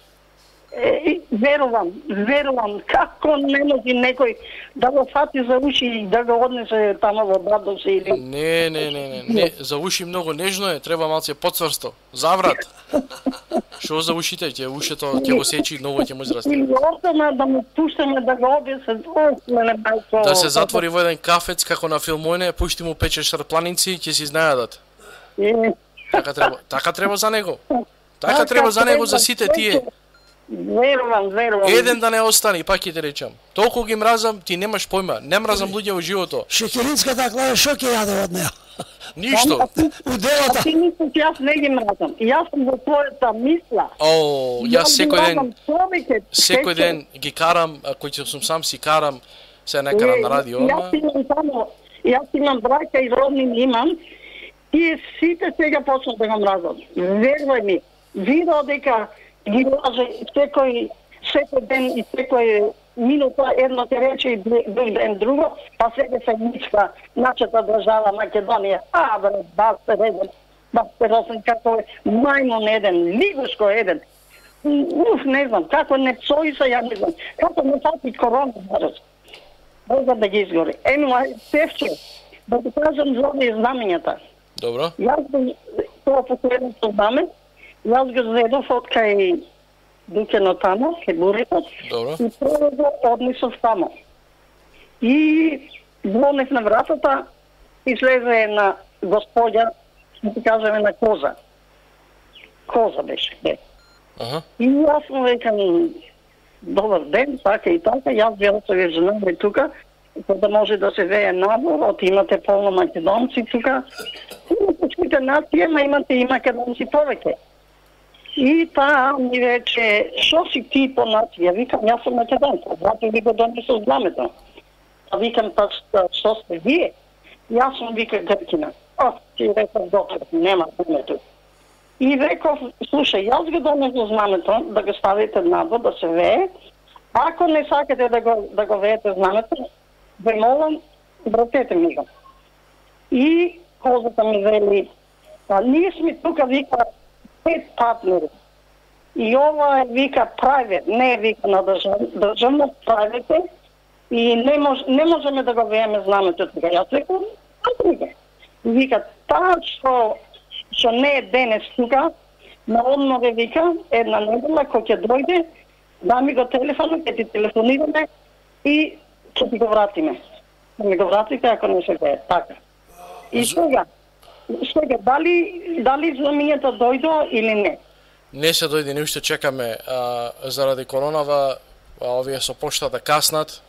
Верувам, како не може некој да го фати за уши и да го однесе тамо во Брадовци или... Не, за уши многу нежно е, треба малце подцврсто, заврат. Што за ушите, ушето ќе го сечи, многу ќе може расти. Или остана да му пуштаме да го обесе, да се затвори во еден кафец, како на филмојне, пушти му 5-6 планинци, ќе си знајадат. Така треба за него. Така треба за него, за сите тие. Верувам. Еден да не остане, пак ќе ти речам. Толку ги мразам, ти немаш појма. Не мразам луѓе во живото. Шекеринската клава шо ќе јаде од неа? Ништо. А ти мислиш, јас не ги мразам. Јас сум во твојата мисла. Јас секој ден ги карам, кој сум сам си карам, се не карам на радио. Јас имам браќа и роднини имам. Тие сите сега почнат да го мразат. Верувај ми, видео дека ги лаже секој ден и секој минута едно ќе рече и друг ден друго, па сега се мичка нашата држава Македонија. Бастер еден, бастер осен, како е мајмон еден, лигушко еден. Не знам, како не псои се, ја не знам. Како не фати корона, бързо да ги изгори. Севче, да ти кажам за овие знамењата. Добро. Јас тоа последното знаме, јас го зедов од кај Дукено тамо, кај Бурето, и прво однесов тамо. И звонев на вратата, излезе една господја, да ти кажеме на коза. Коза беше. И јас му викам, добар ден, така и така, јас била се ве женаме тука, да може да се вее набор, од имате полно македонци тука. Имате сите нација, ма имате и македонци повеќе. И таа ми рече, шо си ти по нација? Викам, јас сум македонка, зато ви го донесов знамето. А викам, па што сте вие? Јас сум, вика, гркина. Ти реков, доктор, нема знамето. И реков, слушај, јас го донесов знамето, да го ставите надвор, да се вее. Ако не сакате да го веете знамето, ве молам, вратете ми го. И козата ми вели, ние сме тука, вика, 5 партнери. И ова е, вика, private, не е, вика, на државно, private. и не можеме да го вееме знамето тука. Јас рекам, вика, таа што не е денес тука, на одморе вика, една недела кој ќе дојде, да ми го телефонот, ќе ти телефонираме и ќе ти го вратиме. Ми го вратите ако не се вее, така. И сега дали знамињето дојдо или не? Не се дојде, не уште чекаме заради коронава, овие со поштата каснат.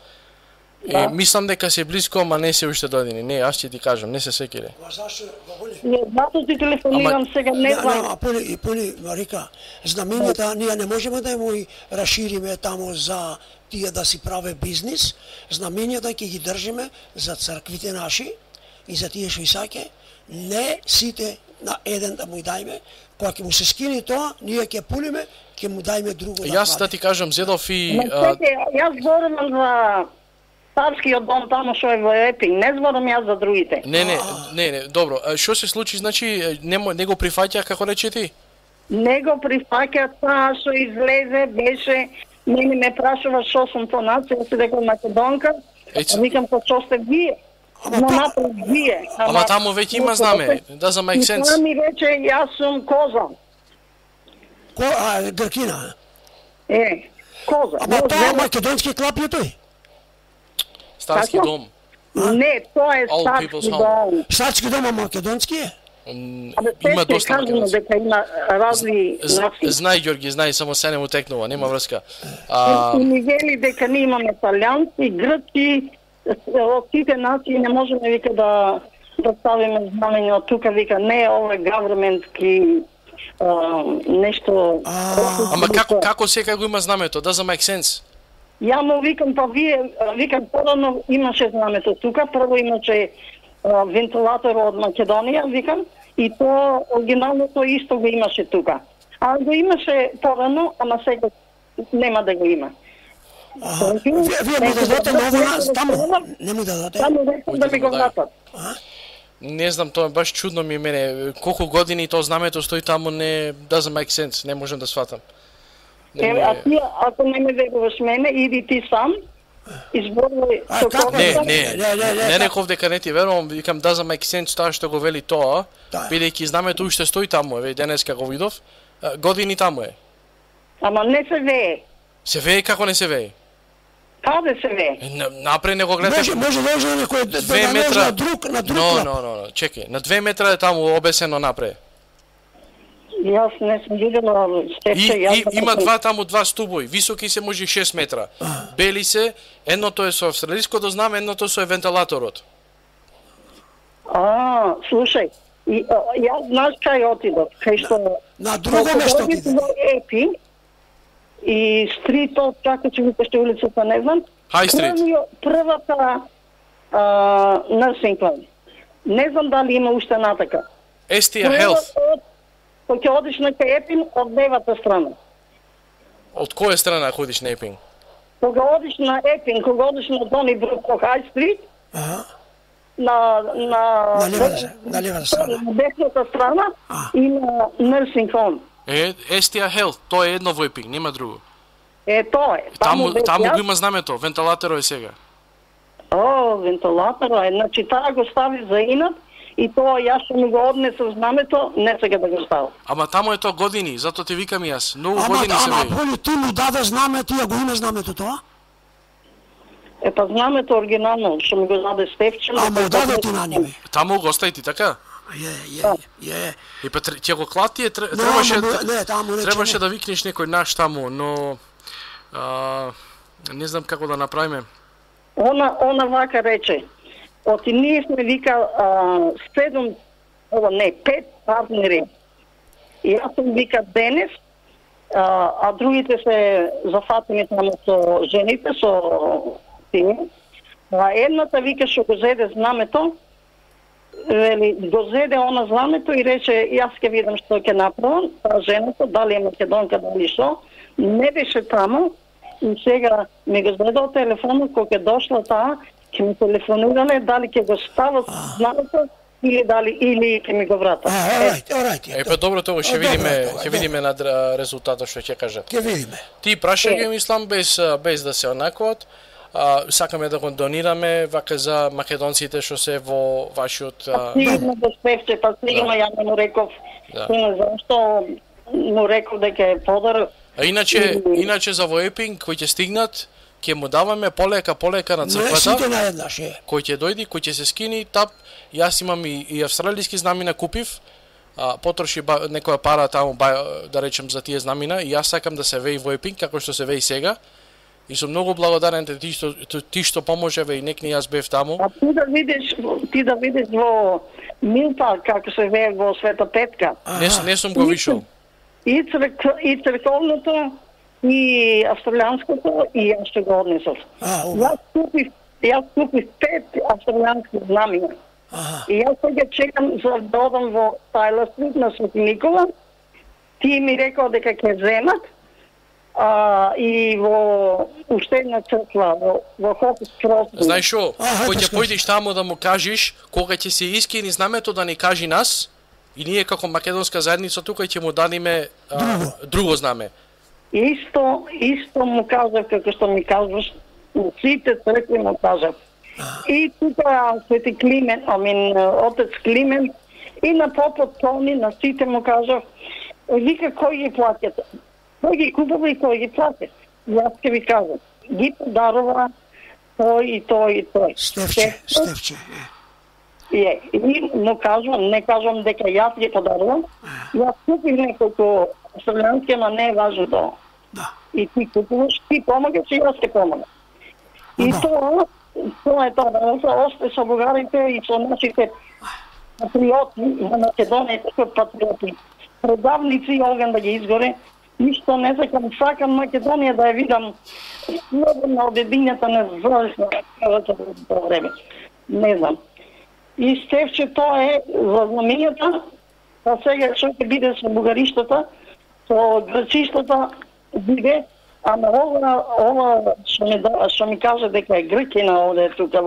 Да. И мислам дека се близко, ама не се уште дојдени. Не, аз ќе ти кажам, не се секире. Зато ти телефонирам сега, не знам. Поли, Марика, знамењата ние не можеме да му расшириме таму за тие да си праве бизнис. Знамењата ќе ги држиме за црквите наши и за тие што исаќе. Не сите на еден да му дајме. Кога ќе му се скине тоа, ние ќе пулиме, ќе му дајме друго. Јас да ти кажам, зедов и... Јас зборувам за Царскиот дом таму што е во Епинг, не зборам јас за другите. Не, добро. Што се случи, значи, не го прифаќа, како рече ти? Не го прифаќа, таа што излезе, беше, мене ме прашува што сум по нација, се дека македонка, викам па што сте вие. Но напред вие. Ама таму веќе има знаме, doesn't make sense. И таа ми рече, јас сум Коза. Гркина? Коза. Ама тоа македонски клап е тој? Старски дом. Не, тоа е Старски дом. Старски дом е македонски е? Има доста македонски. Дека има разни нации. Знај, Ѓорги, знај, само се не му текнува, нема врска. И ми вели дека ние имаме италијанци, грци, од сите нации не можеме, вика, да ставиме знамење од тука, вика, не, ова е governmentки нешто... Ама како сега го има знамето? Doesn't make sense. Ја му викам, па вие, викам, порано имаше знамето тука, прво имаше вентилатор од Македонија, викам, и тоа оригиналното исто го имаше тука. А го имаше порано, ама сега нема да го има. Вие му дадете ново таму? Не му дадете? Таму рекам да ми го вратат. Не знам, тоа баш чудно ми мене. Колку години тоа знамето стои таму, не doesn't make sense, не можам да сватам. А ти, ако не ме веруваш мене, иди ти сам, изборувај со кого... Не реков дека не ти верувам, викам doesn't make sense тоа што го вели тоа, бидејќи знамето уште стои таму, еве денеска го видов, години таму е. Ама не се вее. Се вее, како не се вее? Каде се вее? Напред не го гледате. Може некој да наложи на друг. Но, чекај, на 2 метра е таму обесено напред. Јас не сум видела степче. Има два стубови, високи се може 6 метра. Бели се, едното е со австралиското знаме, едното со вентилаторот. Слушај, јас знаеш кај отидов, кај што... На друго место отидов. И стритот, како ќе викаше улицата, не знам. High Street. Првата nursing home. Не знам дали има уште натака. Estia Health. Кога ќе одиш на Епинг, од левата страна. Од која страна ходиш на Епинг? Кога одиш на Епинг, кога одиш на Донибрук по High Street, на левата страна. На десната страна има nursing home. Estia Health, тоа е едно во Епинг, нема друго. Тоа е. Таму го има знамето, вентилаторот е сега. Вентилаторот е, значи таа го стави за инат и тоа јас што ми го однесов знамето, не сега да го ставам. Ама таму е тоа години, затоа ти викам јас, многу години се веќе. Ама Поли, ти му даде знаме, ти ја го има знамето тоа? Па знамето оригинално, што ми го даде Стефче. Ама даде ти на ними. Таму го остави ти, така? Е. И па ќе го клати, требаше да викнеш некој наш таму, но не знам како да направиме. Она вака рече, оти ние сме вика 5 партнери. И јас сум вика денес, а другите се зафатени таму со жените, со тие. А едната вика што го зеде знамето, вели, го зеде она знамето и рече, јас ќе видам што ќе направам, таа жената, дали е македонка, дали што, не беше таму, и сега ми го зедал телефонот, кога ќе дошла таа, ќе ми телефонирале, дали ќе го стават знамето, или ќе ми го врата. Па добро, тоа ќе видиме над резултатот што ќе кажат. Ќе видиме. Ти прашај ги, мислам, без да се онакват, сакаме да го донираме вака за македонците што се во вашиот Сигурно да спевче, па сигурно ја не му реков. Зашто му реков дека е подар. А иначе за Воепинг кој ќе стигнат, ќе му даваме полека на црквата. Кој ќе дојди, кој ќе се скини тап. Јас имам и австралиски знамина купив. Потроши некоја пара таму да речем за тие знамина и јас сакам да се веи Воепинг како што се веи сега. И сум многу благодарен ти што поможеве и некни јас бев таму. А ти да видиш во Милпа како се вее во Света Петка. Не сум го вишол. И црковното и австралијанското и јас што го однесов. Јас купив 5 австралијански знамина. И јас сега чекам за да одам во Тайлер Стрит на Свети Никола. Ти ми рекол дека ќе земат. И во уште една црква во Хопс Крос. Знаеш шо, кој ќе појдеш таму да му кажеш кога ќе се искини знамето да ни кажи нас и ние како македонска заедница тука ќе му дадиме друго знаме. Исто му кажав како што ми кажуваш, сите цркви му кажав. И тука Свети Климент, отец Климент и на попот Тони, на сите му кажав, вика кој ги платят. Кој ги купува и кој ги плати. Јас ќе ви кажам. Ги подарува тој и тој и тој. Стефче. Но кажам, не кажам дека јас ги подарувам. Јас купив неколку австралијански, ама не е важно тоа. Да. И ти купуваш, ти помагаш и јас ќе помагам. И тоа е тоа. Осте со бугарите и со нашите патриоти на Македонија, патриоти. Предавници оган да ги изгоре. Ништо не сакам Македонија да ја видам на обединјата независна време. Не знам. И Стефче, тоа е за знамињата, па сега што ќе биде со бугариштата, со грчиштата биде, ама ова што ми каже дека е гркина овде тука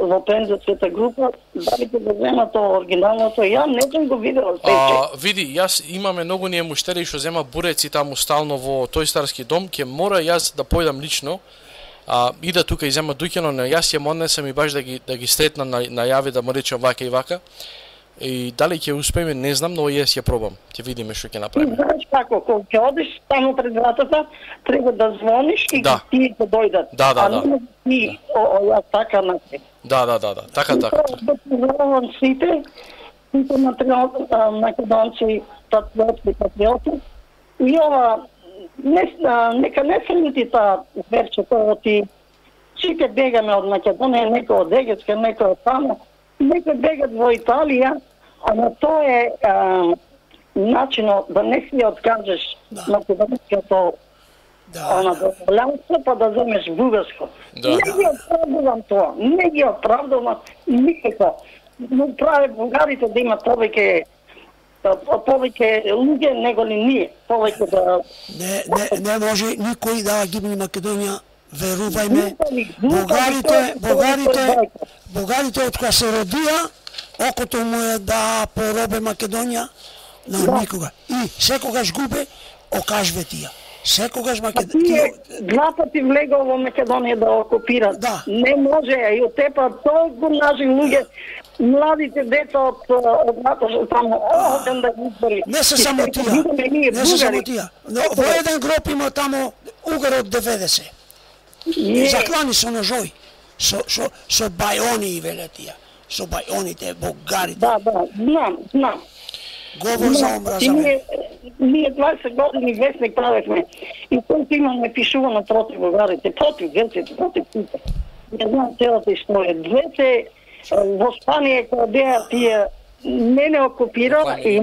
во пензерската група, дали ќе го земат оригиналното, ја не сум го видел. Види, јас имаме многу ние муштери што зема буреци таму стално во тој старски дом, ќе мора јас да појдам лично, и да тука и зема дуќано, но јас ја однесам и баш да ги стретнам на јави, да му речем вака и вака. И дали ќе успееме, не знам, но јас ја пробам. Ќе видиме што ќе направиме. Знаеш како, кога ќе одиш таму пред вратата, треба да звониш и тие ќе дојдат. Да. И ја така напред. Да. Така. Да поздравувам сите македонци, патриоти. И ова, нека не срети таа верчето, ти сите бегаме од Македонија, некој од Егетска, некој од таму, некој бегат во Италија, ама тоа е начинот да не си откажеш македонското дозволянство, па да земеш бугарско. Не ги оправдувам тоа, не ги оправдувам никако. Но праве бугарите да имат повеќе луѓе него ли ние, повеќе да... Не може никој да гибне Македонија, верувајме. Бугарите од кога се родија, окото му е да поробе Македонија, но никога. И секогаш губе, окажве тија. Секогаш Македонија... Два пати влегол во Македонија да окупира. Не може, и од тепа толку наши луѓе, младите деца од НАТО таму, оден да ги избори. Не се само тија. Но во еден гроб има таму угар од 90. И заклани со ножови. Со бајони веле тија. Со бајоните, бугарите. Да, знам. Говор за омраза. Ние 20 години вестник правехме и колку имаме пишувано против бугарите, против грците, против сите. Не знам целата историја. Двете во Спанија кога беа тие не окупирала и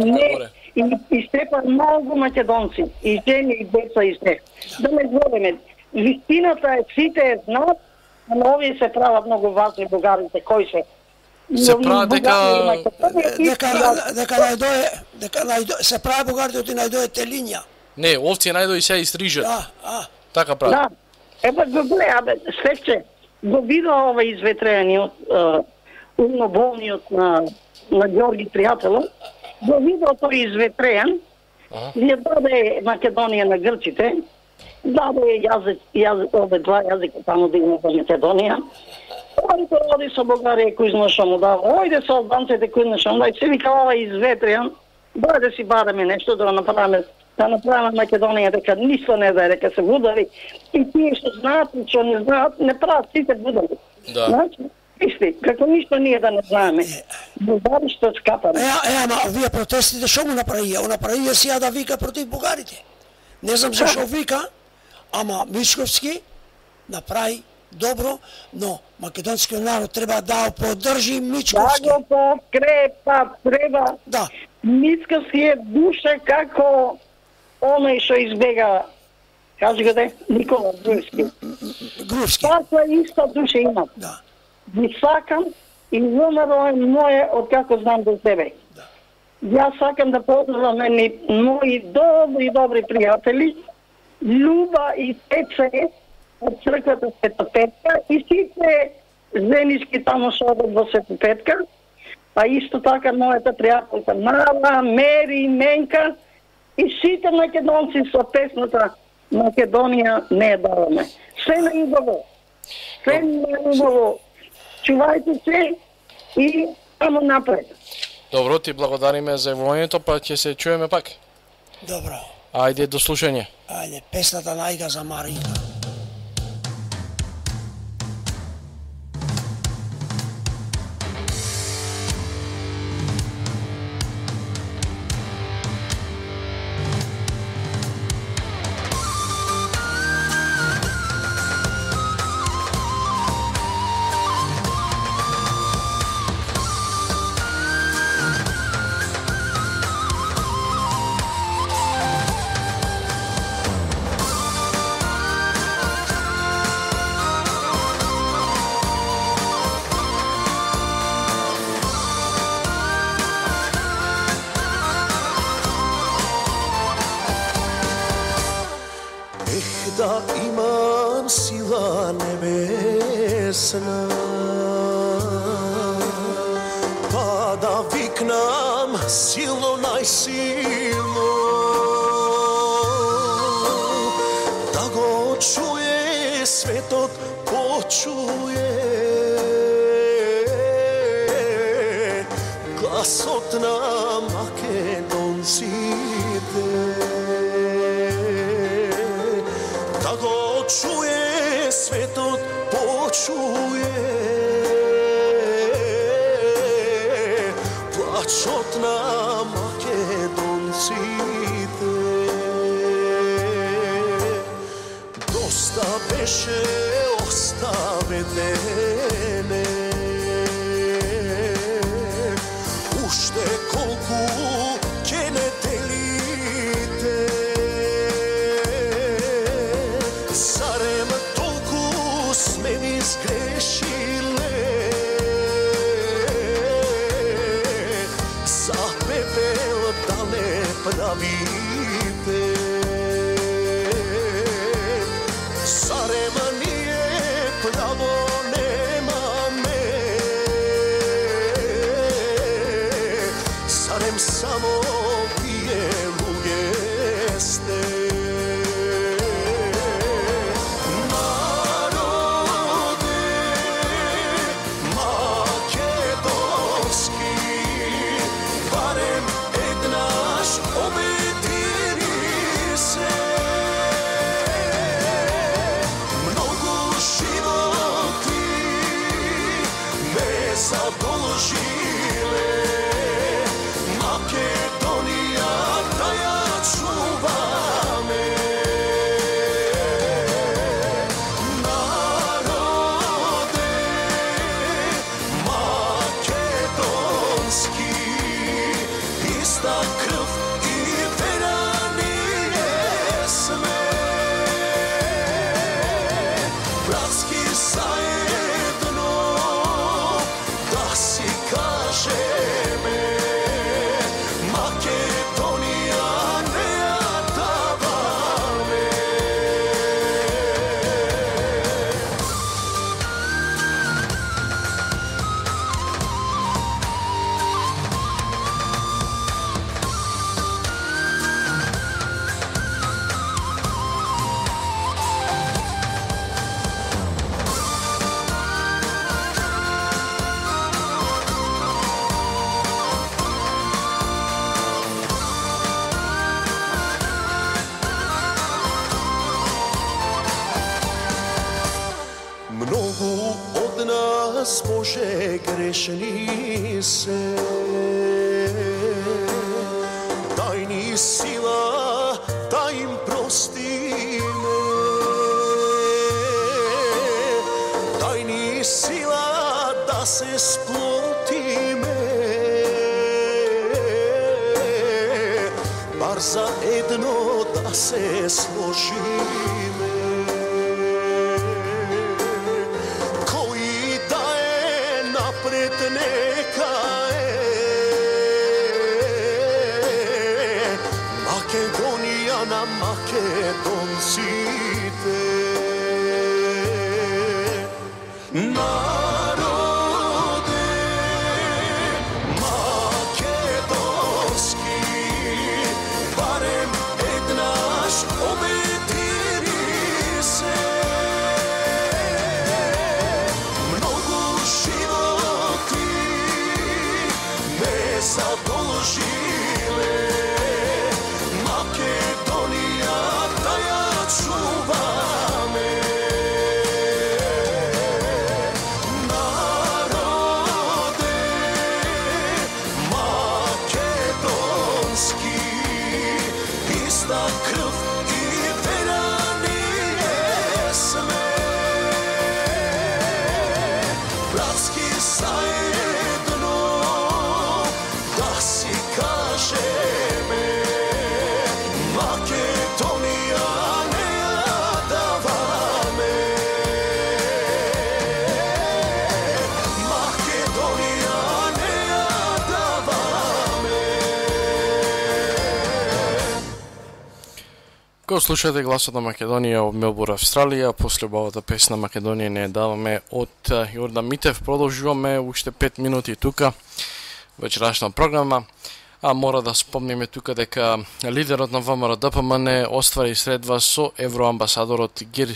степа многу македонци, и жени, и деца, и се. Да не збориме, вистината е сите знаат, но овие се прават многу важни бугарите, кои се. Се прават дека се прави бугарите и најдојате линија. Не, овци најдој се истрижат. Така прави. Да. Еба го гледа, Стефче, го вида ова изветреаниот умноболниот на Ѓорги Пријателов, го вида тој изветреан, ја даде Македонија на грците, Да, овде два јазика таму да има во Македонија. Оди со Бугарија кој знаеше му дава, ојде со албанците кој знаеше му дава, се вика ова изветријан, да си бараме нешто да направиме Македонија дека ништо не знае, дека се будари и тие што знаат и што не знаат, не прават сите будари. Да. Значи, вижте, како ништо ние да не знаеме. Бугари што скапаме. Ама овие протестите што му направија? Направија сија да вика против бугарите. Не знам зашо вика, ама Мичковски направи добро, но македонскиот народ треба да поддржи Мичковски. Да го подкрепа, треба. Да. Мичковски е душа како оној што избега, кажи го де, Никола Груевски. Таква иста душа има. Да. Ги сакам и умро е моје од како знам до тебе. Да. Јас сакам да поздравам мои добри пријатели, Љуба и Пеце од црквата Света Петка и сите женички таму што одат во Света Петка, а исто така мојата пријателка Мара, Мери, Менка и сите македонци со песната Македонија не даваме. Се на убаво. Се на убаво. Чувајте се и само напред. Добро, ти благодариме за јавувањето, па ќе се чуеме пак. Добро. Ајде до слушање. Ајде, песната најга за Марина. Да имам сила небесна, па да викнам силно најсилно, да го чуе светот, почуе гласот на македонците. Чуе светот, почуе плачот на македонците. Доста беше оставедене, уште колку ќе не делите. Сгрешиле за пепел да не правите. Зарем ние нас, Боже, грешни се. Дај ни сила да им простиме. Дај ни сила да се сплотиме. Бар за едно да се сложиме. Кој да е напред нека е. Македонија на македонците. Народе македонски, барем еднаш обедини се. Многу животи ме задолжиле. Македонија да ја чуваме. Народе македонски, иста крв и вера ние сме. Братски заедно да си кажеме. Македонија не ја даваме. Македонија не ја даваме. Го слушате гласот на Македонија од Мелбурн, Австралија. После убавата песна Македонија не ја даваме од Јордан Митев. Продолжуваме уште 5 минути тука вечерашна програма. А мора да спомниме тука дека лидерот на ВМРО ДПМН оствари средба со евроамбасадорот Гир.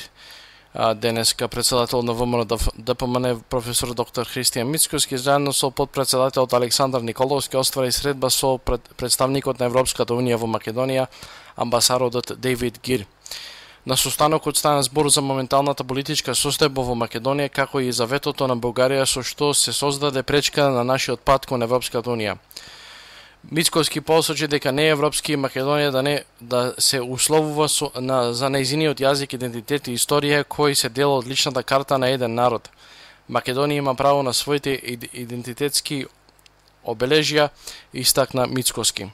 Денеска председател на ВМРО ДПМН професор доктор Христијан Мицкоски заедно со подпредседателот Александар Николовски оствари средба со представникот на Европската унија во Македонија, амбасадорот Дејвид Гир. На состанокот стана збор за моменталната политичка состојба во Македонија, како и за ветото на Бугарија со што се создаде пречка на нашиот пат кон Европската унија. Мицкоски посочи дека не е европски Македонија да се условува за нејзиниот јазик, идентитет и историја кои се дел од личната карта на еден народ. Македонија има право на своите идентитетски обележја, истакна Мицкоски.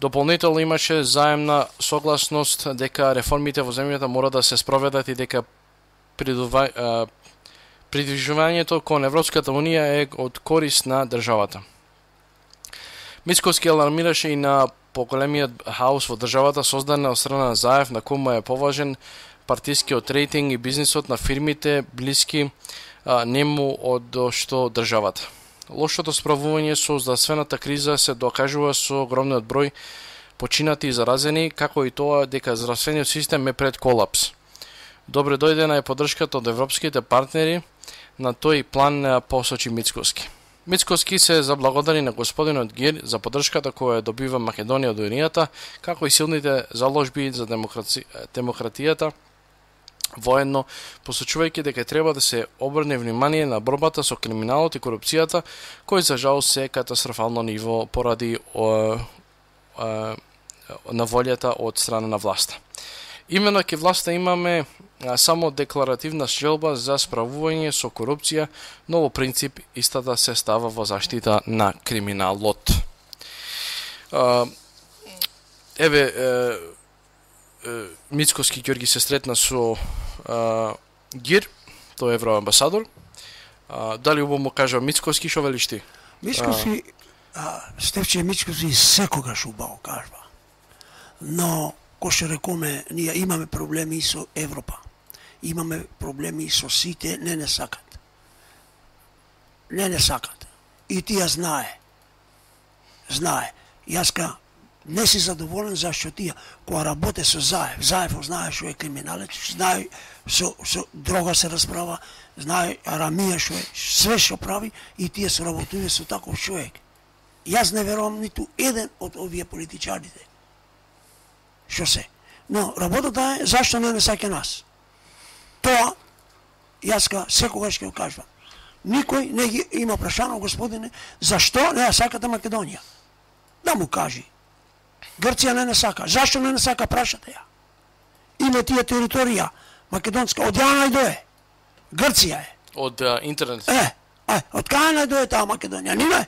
Дополнително имаше заемна согласност дека реформите во земјата мора да се спроведат и дека придвижувањето кон Европската унија е од корист на државата. Мицкоски алармираше и на поголемиот хаос во државата создаден од страна на Заев, на кому е поважен партискиот рейтинг и бизнисот на фирмите блиски нему од што државата. Лошото справување со здравствената криза се докажува со огромниот број починати и заразени, како и тоа дека здравствениот систем е пред колапс. Добре дојдена е поддршката од европските партнери на тој план, посочи Мицкоски. Мицкоски се заблагодари на господинот Гир за поддршката која добива Македонија од Унијата, како и силните заложби за демократијата, воедно посочувајќи дека треба да се обрне внимание на борбата со криминалот и корупцијата, кој за жал се катастрофално ниво поради на волјата од страна на власта. Именно ке власта имаме само декларативна желба за справување со корупција, но во принцип истата се става во заштита на криминалот. Мицкоски Ѓорги се сретна со Гир, тој е евроамбасадор. Дали убаво му кажа Мицкоски, шо велиш ти? Мицкоски, Стефче Мицкоски секогаш убаво кажва. Но, кој што рекоме, ние имаме проблеми со Европа. Имаме проблеми со сите, не сакат. Не сакат. И тие знае. Јаска не си задоволен зашто тие кога работе со Заев знае што е криминалец, знае со дрога се расправа, знае Арамија што е, све што прави и тие соработуваат со таков човек. Јас не верувам ниту еден од овие политичарите. Што се? Но работата е зашто не саќа нас. Тоа јаска секогаш ќе го кажувам. Никој не ги има прашано, господине, зашто не ја сакате Македонија? Да му кажи. Грција не сака. Зашто не сака, прашате ја. Има тие територија македонска, од ја најдое. Грција е. Од интернет. Од кај најдое таа Македонија, нема?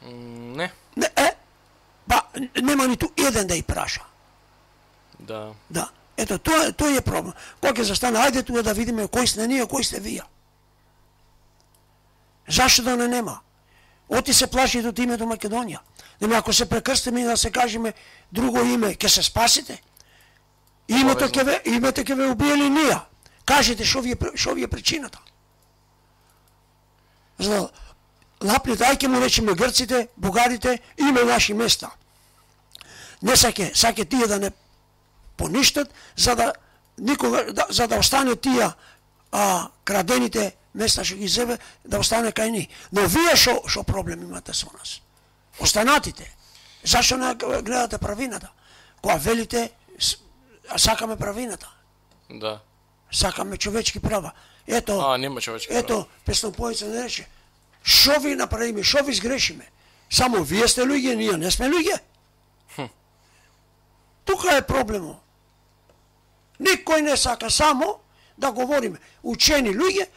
Не. Не, па нема ниту еден да ја праша. Да. Да. Ето, тој е проблем. Кога ќе застане, ајде тука да видиме кој сте ние, кој сте вие. Зашто да не нема? Оти се плашите од името Македонија. Нема, ако се прекрстиме и да се кажеме друго име, ќе се спасите? Името ќе ве убиели ние. Кажете шо ви е причината. За лапните, ајде му речеме грците, бугарите, има наши места. Не саке тие да не поништат, за да остане тие крадените места што ги зебе, да остане кај ни. Но вие шо проблем имате со нас? Останатите. Зашто не гледате правината? Кога велите, сакаме правината. Да. Сакаме човечки права. Ето, нема човечки права. Ето, песнопојца не рече, шо ви направиме, шо ви сгрешиме? Само вие сте луѓе, ние не сме луѓе. Тука е проблемот. Никој не сака, само да говориме. Учени луѓе,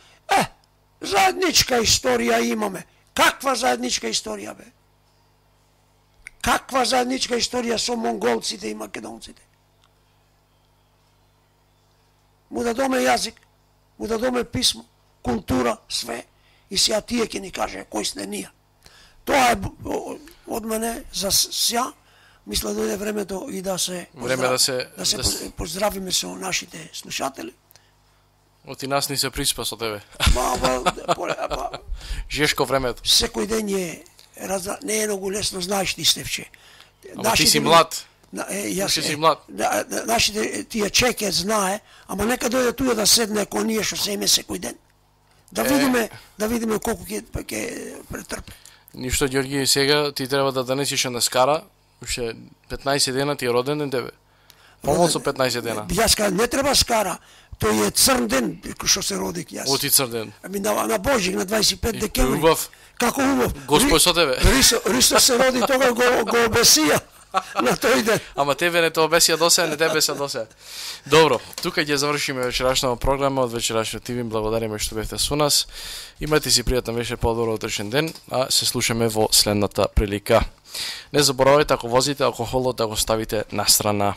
заедничка историја имаме. Каква заедничка историја, бе? Каква заедничка историја со монголците и македонците? Му дадоме јазик, му дадоме писмо, култура, све, и сега тие ќе ни каже кој сте ние. Тоа е од мене за сега. Мисля дојде времето и да се поздравиме со нашите слушатели. Оти нас ни се приспа со тебе. Жешко времето. Секој ден не е многу лесно, знаеш ти, Стефче. Ама ти си млад. Ти си млад. Нашите тие чеке знае, ама нека дојде туја да седне кон ние што се име секој ден. Да видиме колку ќе претрпи. Ништо, Ѓорги, сега ти треба да донесиш на скара. Уште 15 дена ти е роден ден тебе. Помал со 15 дена. Јас не треба скара. Тој е црн ден што се родик јас. Оти црн ден. На Божик на 25 декември. Убав. Како убав? Госпој со тебе. Ристо се роди, тога го обесија на тој ден. Ама тебе не те обесија до сега, не тебе се до сега. Добро, тука ќе завршиме вечерашната програма од вечерашниот ТВ. Благодариме што бевте со нас. Имате си пријатен вечер, подобро утрешен ден, а се слушаме во следната прилика. Не заборавајте, ако возите алкохолот, да го ставите на страна.